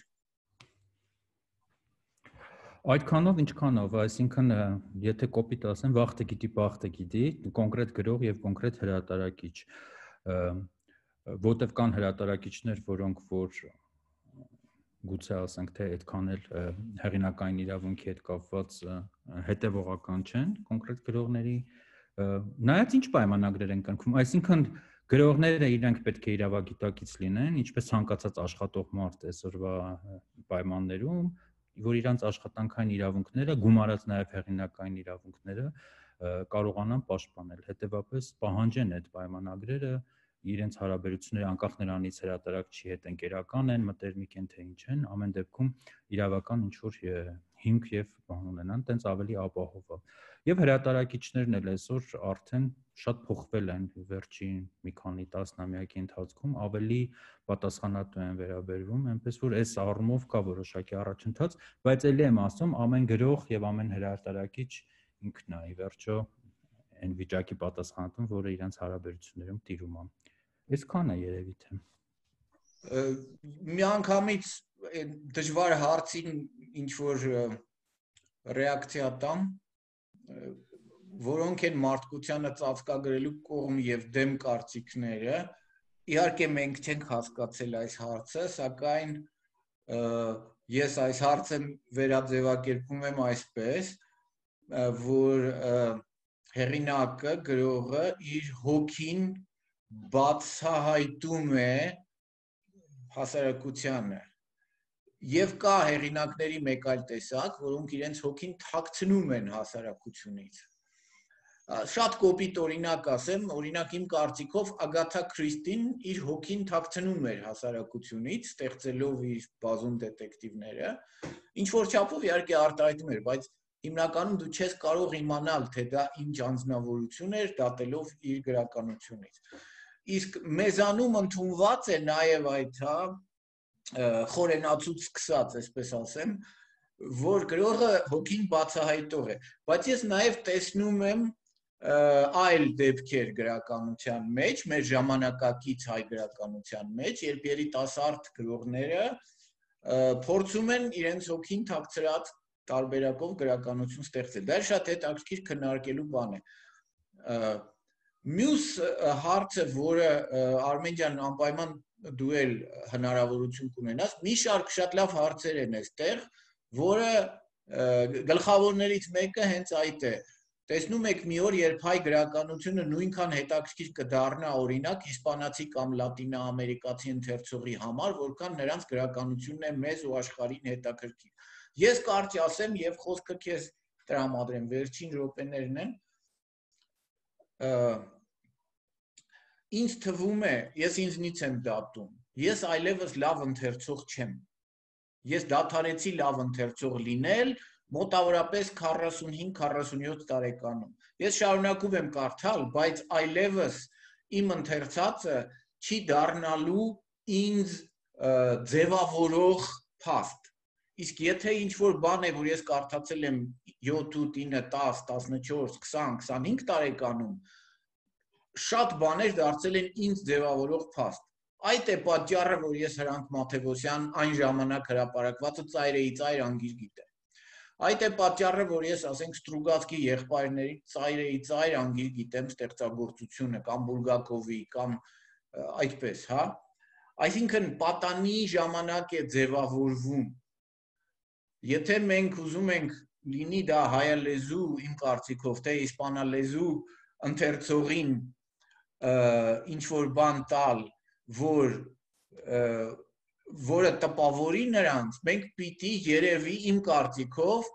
Այդքանով ինչքանով, այսինքն եթե կոպիտ ասեմ, վախտը գիտի, բախտը գիտի, կոնկրետ գրող եւ կոնկրետ հրատարակիչ, որտեվ կան հրատարակիչներ, որոնք որ գուցե ասենք թե այդքան էլ հեղինակային իրավունքի հետ կապված հետևողական չեն կոնկրետ գրողների, նայած ինչ պայմանագրեր են կնքվում, այսինքն գրողները իրենք պետք է իրավագիտակից լինեն, ինչպես ցանկացած աշխատող մարդ այսօրվա պայմաններում, որ իրանց աշխատանքային իրավունքները, գումարած նաև հեղինակային իրավունքները կարողանան պաշտպանել։ Հետևաբար պահանջեն այդ պայմանագրերը իրենց հարաբերությունները անկախ նրանից հրատարակչի հետ ընկերական են, մտերմիկ են թե ինչ են, ամեն դեպքում իրավական ինչ-որ հիմք եւ բան ունենան, տենց ավելի ապահով է։ Եվ հրատարակիչներն էլ այսօր արդեն շատ փոխվել են վերջին մի քանի տասնամյակի ընթացքում, ավելի պատասխանատու են վերաբերվում, այնպես որ այս առումով կա որոշակի առաջընթաց, բայց ելի եմ ասում, ամեն գրող եւ ամեն հրատարակիչ ինքն է, ի վերջո այն վիճակի պատասխանատուն, որը իրենց հարաբերություններում տիրում է։ Այսքանը երևի թե։ Միանգամից դժվար հարցին ինչ որ ռեակցիա տամ, որոնք են մարդկությանը ծածկագրելու կողմ եւ դեմ կարծիքները, իհարկե մենք չենք հասկացել այս հարցը, սակայն ես այս հարցը վերաձևակերպում եմ այսպես, որ հեղինակը, գրողը իր հոգին բացահայտում է հասարակությանը եւ կա հեղինակների մեկ այլ տեսակ, որոնք իրենց հոգին թաքցնում են հասարակությունից։ Շատ կոպիտ օրինակ ասեմ, օրինակ իմ կարծիքով Ագաթա Քրիստին իր հոգին թաքցնում էր հասարակությունից, ստեղծելով իր բազում դետեկտիվները, ինչ որ չափով իհարկե արտահայտում էր, բայց հիմնականում դու չես կարող իմանալ, թե դա ինչ անձնավորություն էր, դատելով իր գրականությունից։ Իսկ մեզանում ընդունված է նաև այդ, խորենացուց սկսած, այսպես ասեմ, որ գրողը հոգին բացահայտող է, բայց ես նաև տեսնում եմ այլ դեպքեր գրականության մեջ, մեր ժամանակակից հայ գրականության մեջ, երբ երիտասարդ գրողները փորձում են իրենց հոգին թաքցրած տարբերակով գրականություն ստեղծել։ Դա շատ հետաքրքիր քննարկելու բան է։ Մյուս հարցը, որը Արմեն ջան անպայման դու էլ հնարավորություն կունենաս, մի շարք շատ լավ հարցեր են այստեղ, որը գլխավորներից մեկը հենց այդ է։ Տեսնում եք մի օր, երբ հայ գրականությունը նույնքան հետաքրքիր կդառնա, օրինակ, իսպանացի կամ լատինաամերիկացի ընթերցողի համար, որքան նրանց գրականությունն է մեզ ու աշխարհին հետաքրքիր։ Ես կարճ ասեմ եւ խոսքը քեզ տրամադրեմ, վերջին րոպեներն են։ Ինձ թվում է, ես ինձնից եմ դատում, ես այլևս լավ ընթերցող չեմ։ Ես դադարեցի լավ ընթերցող լինել մոտավորապես 45-47 տարեկանում։ Ես շարունակում եմ կարդալ, բայց այլևս իմ ընթերցածը չի դառնալու ինձ ձևավորող փաստ։ Իսկ եթե ինչ-որ բան է, որ ես կարդացել եմ 7, 9, 10, 14, 20, 25 տարեկանում, շատ բաներ դարձել են ինձ ձևավորող փաստ։ Այդ է պատճառը, որ ես Հրանտ Մաթևոսյան այն ժամանակ հրապարակվածը ծայրեի ծայր անգիր գիտեմ։ Այդ է պատճառը, որ ես, ասենք, Ստրուգացկի եղբայրների ծայրեի ծայր անգիր գիտեմ ստեղծագործությունը կամ Բուլգակովի կամ այդպես, հա։ Այսինքն պատանի ժամանակ է ձևավորվում։ Եթե մենք ուզում ենք լինի դա հայալեզու, իմ կարծիքով, թե իսպանալեզու ընթերցողին ինչ որ բան տալ, որը տպավորի նրանց, մենք պիտի երևի իմ կարծիքով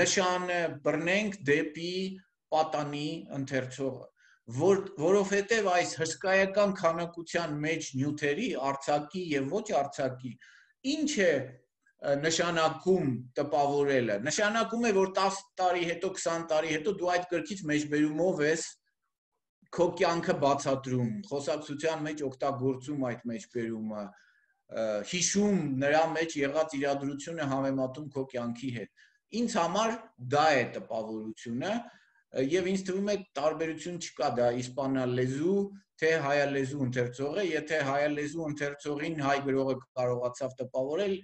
նշանը բռնենք դեպի պատանի ընթերցողը, որովհետև այս հսկայական քանակության մեջ նյութերի, արձակի եւ ոչ արձակի, ինչ է նշանակում տպավորելը, նշանակում է, որ 10 տարի հետո, 20 տարի հետո դու այդ գրքից մեջբերումով ես քո կյանքը բացատրում, խոսակցության մեջ օգտագործում այդ մեջբերումը, հիշում նրա մեջ եղած իրադրությունը համեմատում քո կյանքի հետ։ Ինձ համար դա է տպավորությունը, եւ ինձ թվում է տարբերություն չկա դա իսպանալեզու, թե հայալեզու ընթերցողը, եթե հայալեզու ընթերցողին հայ գրողը կարողացավ տպավորել,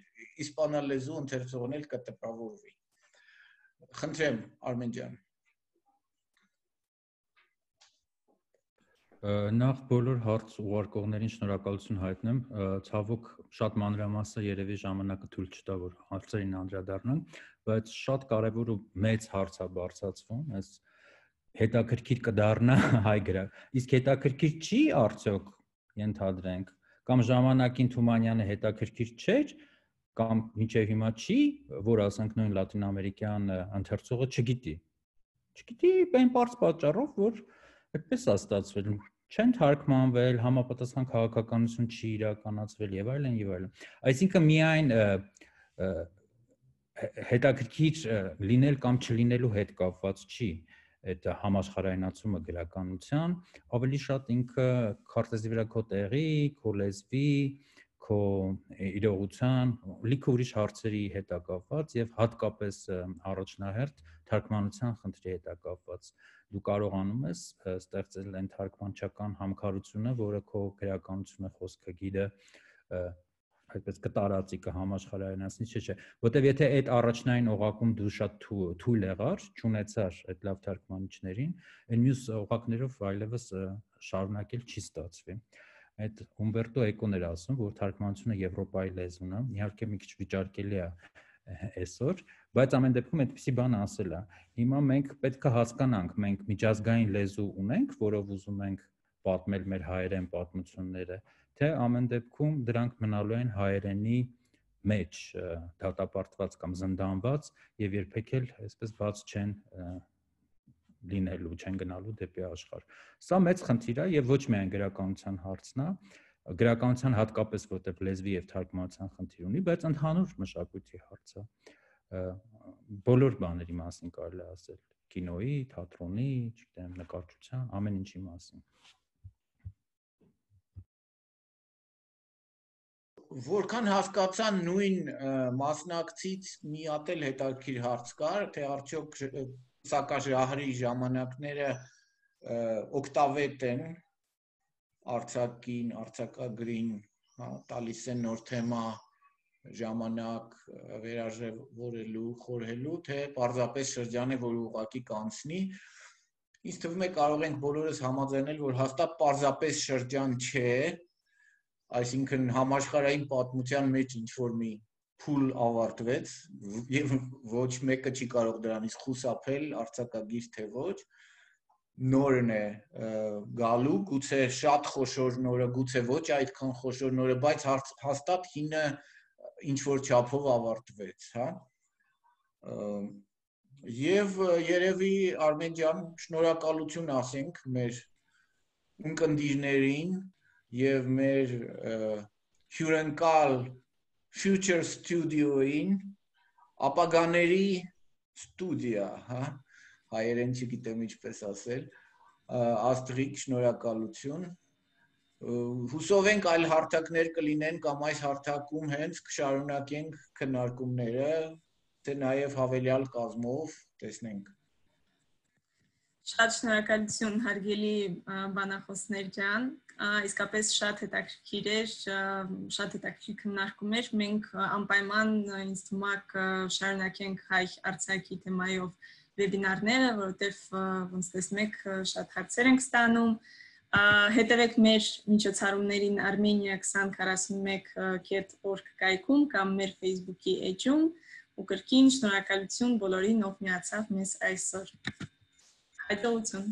իսպանալեզու ընթերցողն էլ կտպավորվի։ Խնդրեմ, Արմեն ջան։ Նախ բոլոր հարց ուղարկողներին շնորհակալություն հայտնեմ, ցավոք շատ մանրամասը երևի ժամանակը թույլ չտա, որ հարցերին անդրադառնանք, բայց շատ կարևոր ու մեծ հարց է բարձրացվում, այս հետաքրքիր կդառնա հայ գրակ։ Իսկ հետաքրքիր չի արդյոք, ենթադրենք, կամ ժամանակին Թումանյանը հետաքրքիր չէր, կամ մինչև հիմա չի, որ ասենք նույն լատինամերիկյան ընթերցողը չգիտի։ Չգիտի այն բարձ պատճառով, որ այդպես է ստացվել, չեն թարգմանվել, համապատասխան քաղաքականություն չի իրականացվել եւ այլն եւ այլն։ Այսինքն միայն հետաքրքիր լինել կամ չլինելու հետ կապված չի այդ համաշխարհայնացումը գրականության, ավելի շատ ինքը քարտեզի վրա քո տեղի, քո լեզվի, քո իրողության, լիքը ուրիշ հարցերի հետ է կապված եւ հատկապես առաջնահերթ թարգմանության խնդրի հետ է կապված։ Դու կարողանում ես ստեղծել այն թարգմանչական համքարությունը, որը քո գրականությունը, խոսքագիրը այդպես կտարածի, կհամաշխարհայնացնի, չէ, որտեվ եթե այդ առաջնային օղակում դու շատ թույլ եղար, չունեցար այդ լավ թարգմանիչներին, այն մյուս օղակներով այլևս շարունակել չի ստացվի։ Այդ Ումբերտո Էկոն էր ասում, որ թարգմանությունը Եվրոպայի լեզուն է, իհարկե մի քիչ վիճարկելի է այսօր, բայց ամեն դեպքում այդպիսի բան ասել է։ Հիմա մենք պետք է հասկանանք, մենք միջազգային լեզու ունենք, որով ուզում ենք պատմել մեր հայերեն պատմությունները, թե ամեն դեպքում դրանք մնալու են հայերենի մեջ դատապարտված կամ զնդանված եւ երբեք էլ այսպես բաց չեն լինելու, չեն գնալու դեպի աշխարհ։ Սա մեծ խնդիր է եւ ոչ միայն գրականության հարցն է, գրականության հատկապես որտեղ լեզվի եւ թարգմանության խնդիր ունի, բայց ընդհանուր մշակույթի հարց է։ Բոլոր բաների մասին կարելի է ասել, կինոյի, թատրոնի, չգիտեմ, նկարչության, ամեն ինչի մասին։ Որքան հասկացա նույն մասնակցից մի հատ էլ հետաքրքիր հարց կար, թե արդյոք սակաժահրի ժամանակները օգտավետ են արձակին, արձակագրին, տալիս են նոր թեմա, ժամանակ վերաժևորելու, խորհելու, թե պարզապես շրջան է, որ ուղղակի կանցնի։ Ինձ թվում է կարող ենք բոլորս համաձայնել, որ հաստատ պարզապես շրջան չէ, այսինքն համաշխարհային պատմության մեջ ինչ-որ մի փուլ ավարտվեց եւ ոչ մեկը չի կարող դրանից խուսափել, արձակագիր թե ոչ, նորն է գալու, գուցե շատ խոշոր նորը, գուցե ոչ այդքան խոշոր նորը, բայց հաստատ հինը ինչ-որ չափով ավարտվեց, հա։ Եվ երևի Արմեն ջան, շնորհակալություն ասենք մեր ունկնդիրներին եւ մեր հյուրընկալ Future Studio-ին, ապագաների ստուդիա, հա, հայերեն չգիտեմ ինչպես ասել, Աստղիկ, շնորհակալություն։ Հուսով ենք այլ հարթակներ կլինեն կամ այս հարթակում հենց կշարունակենք քննարկումները, թե նաև հավելյալ կազմով, տեսնենք։ Շատ շնորհակալություն հարգելի բանախոսներ ջան, իսկապես շատ հետաքրքիր էր, շատ հետաքրքիր քննարկում էր, մենք անպայման ինձ թվում է կշարունակենք հայ արձակի թեմայով վեբինարները, որովհետև ոնց տեսնում եք շատ հարցեր ենք ստանում, հետևեք մեր միջոցառումներին armenia2041.org կայքում կամ մեր Facebook-ի էջում ու կրկին շնորհակալություն բոլորին, ով միացավ մեզ այսօր։ Հաջողություն։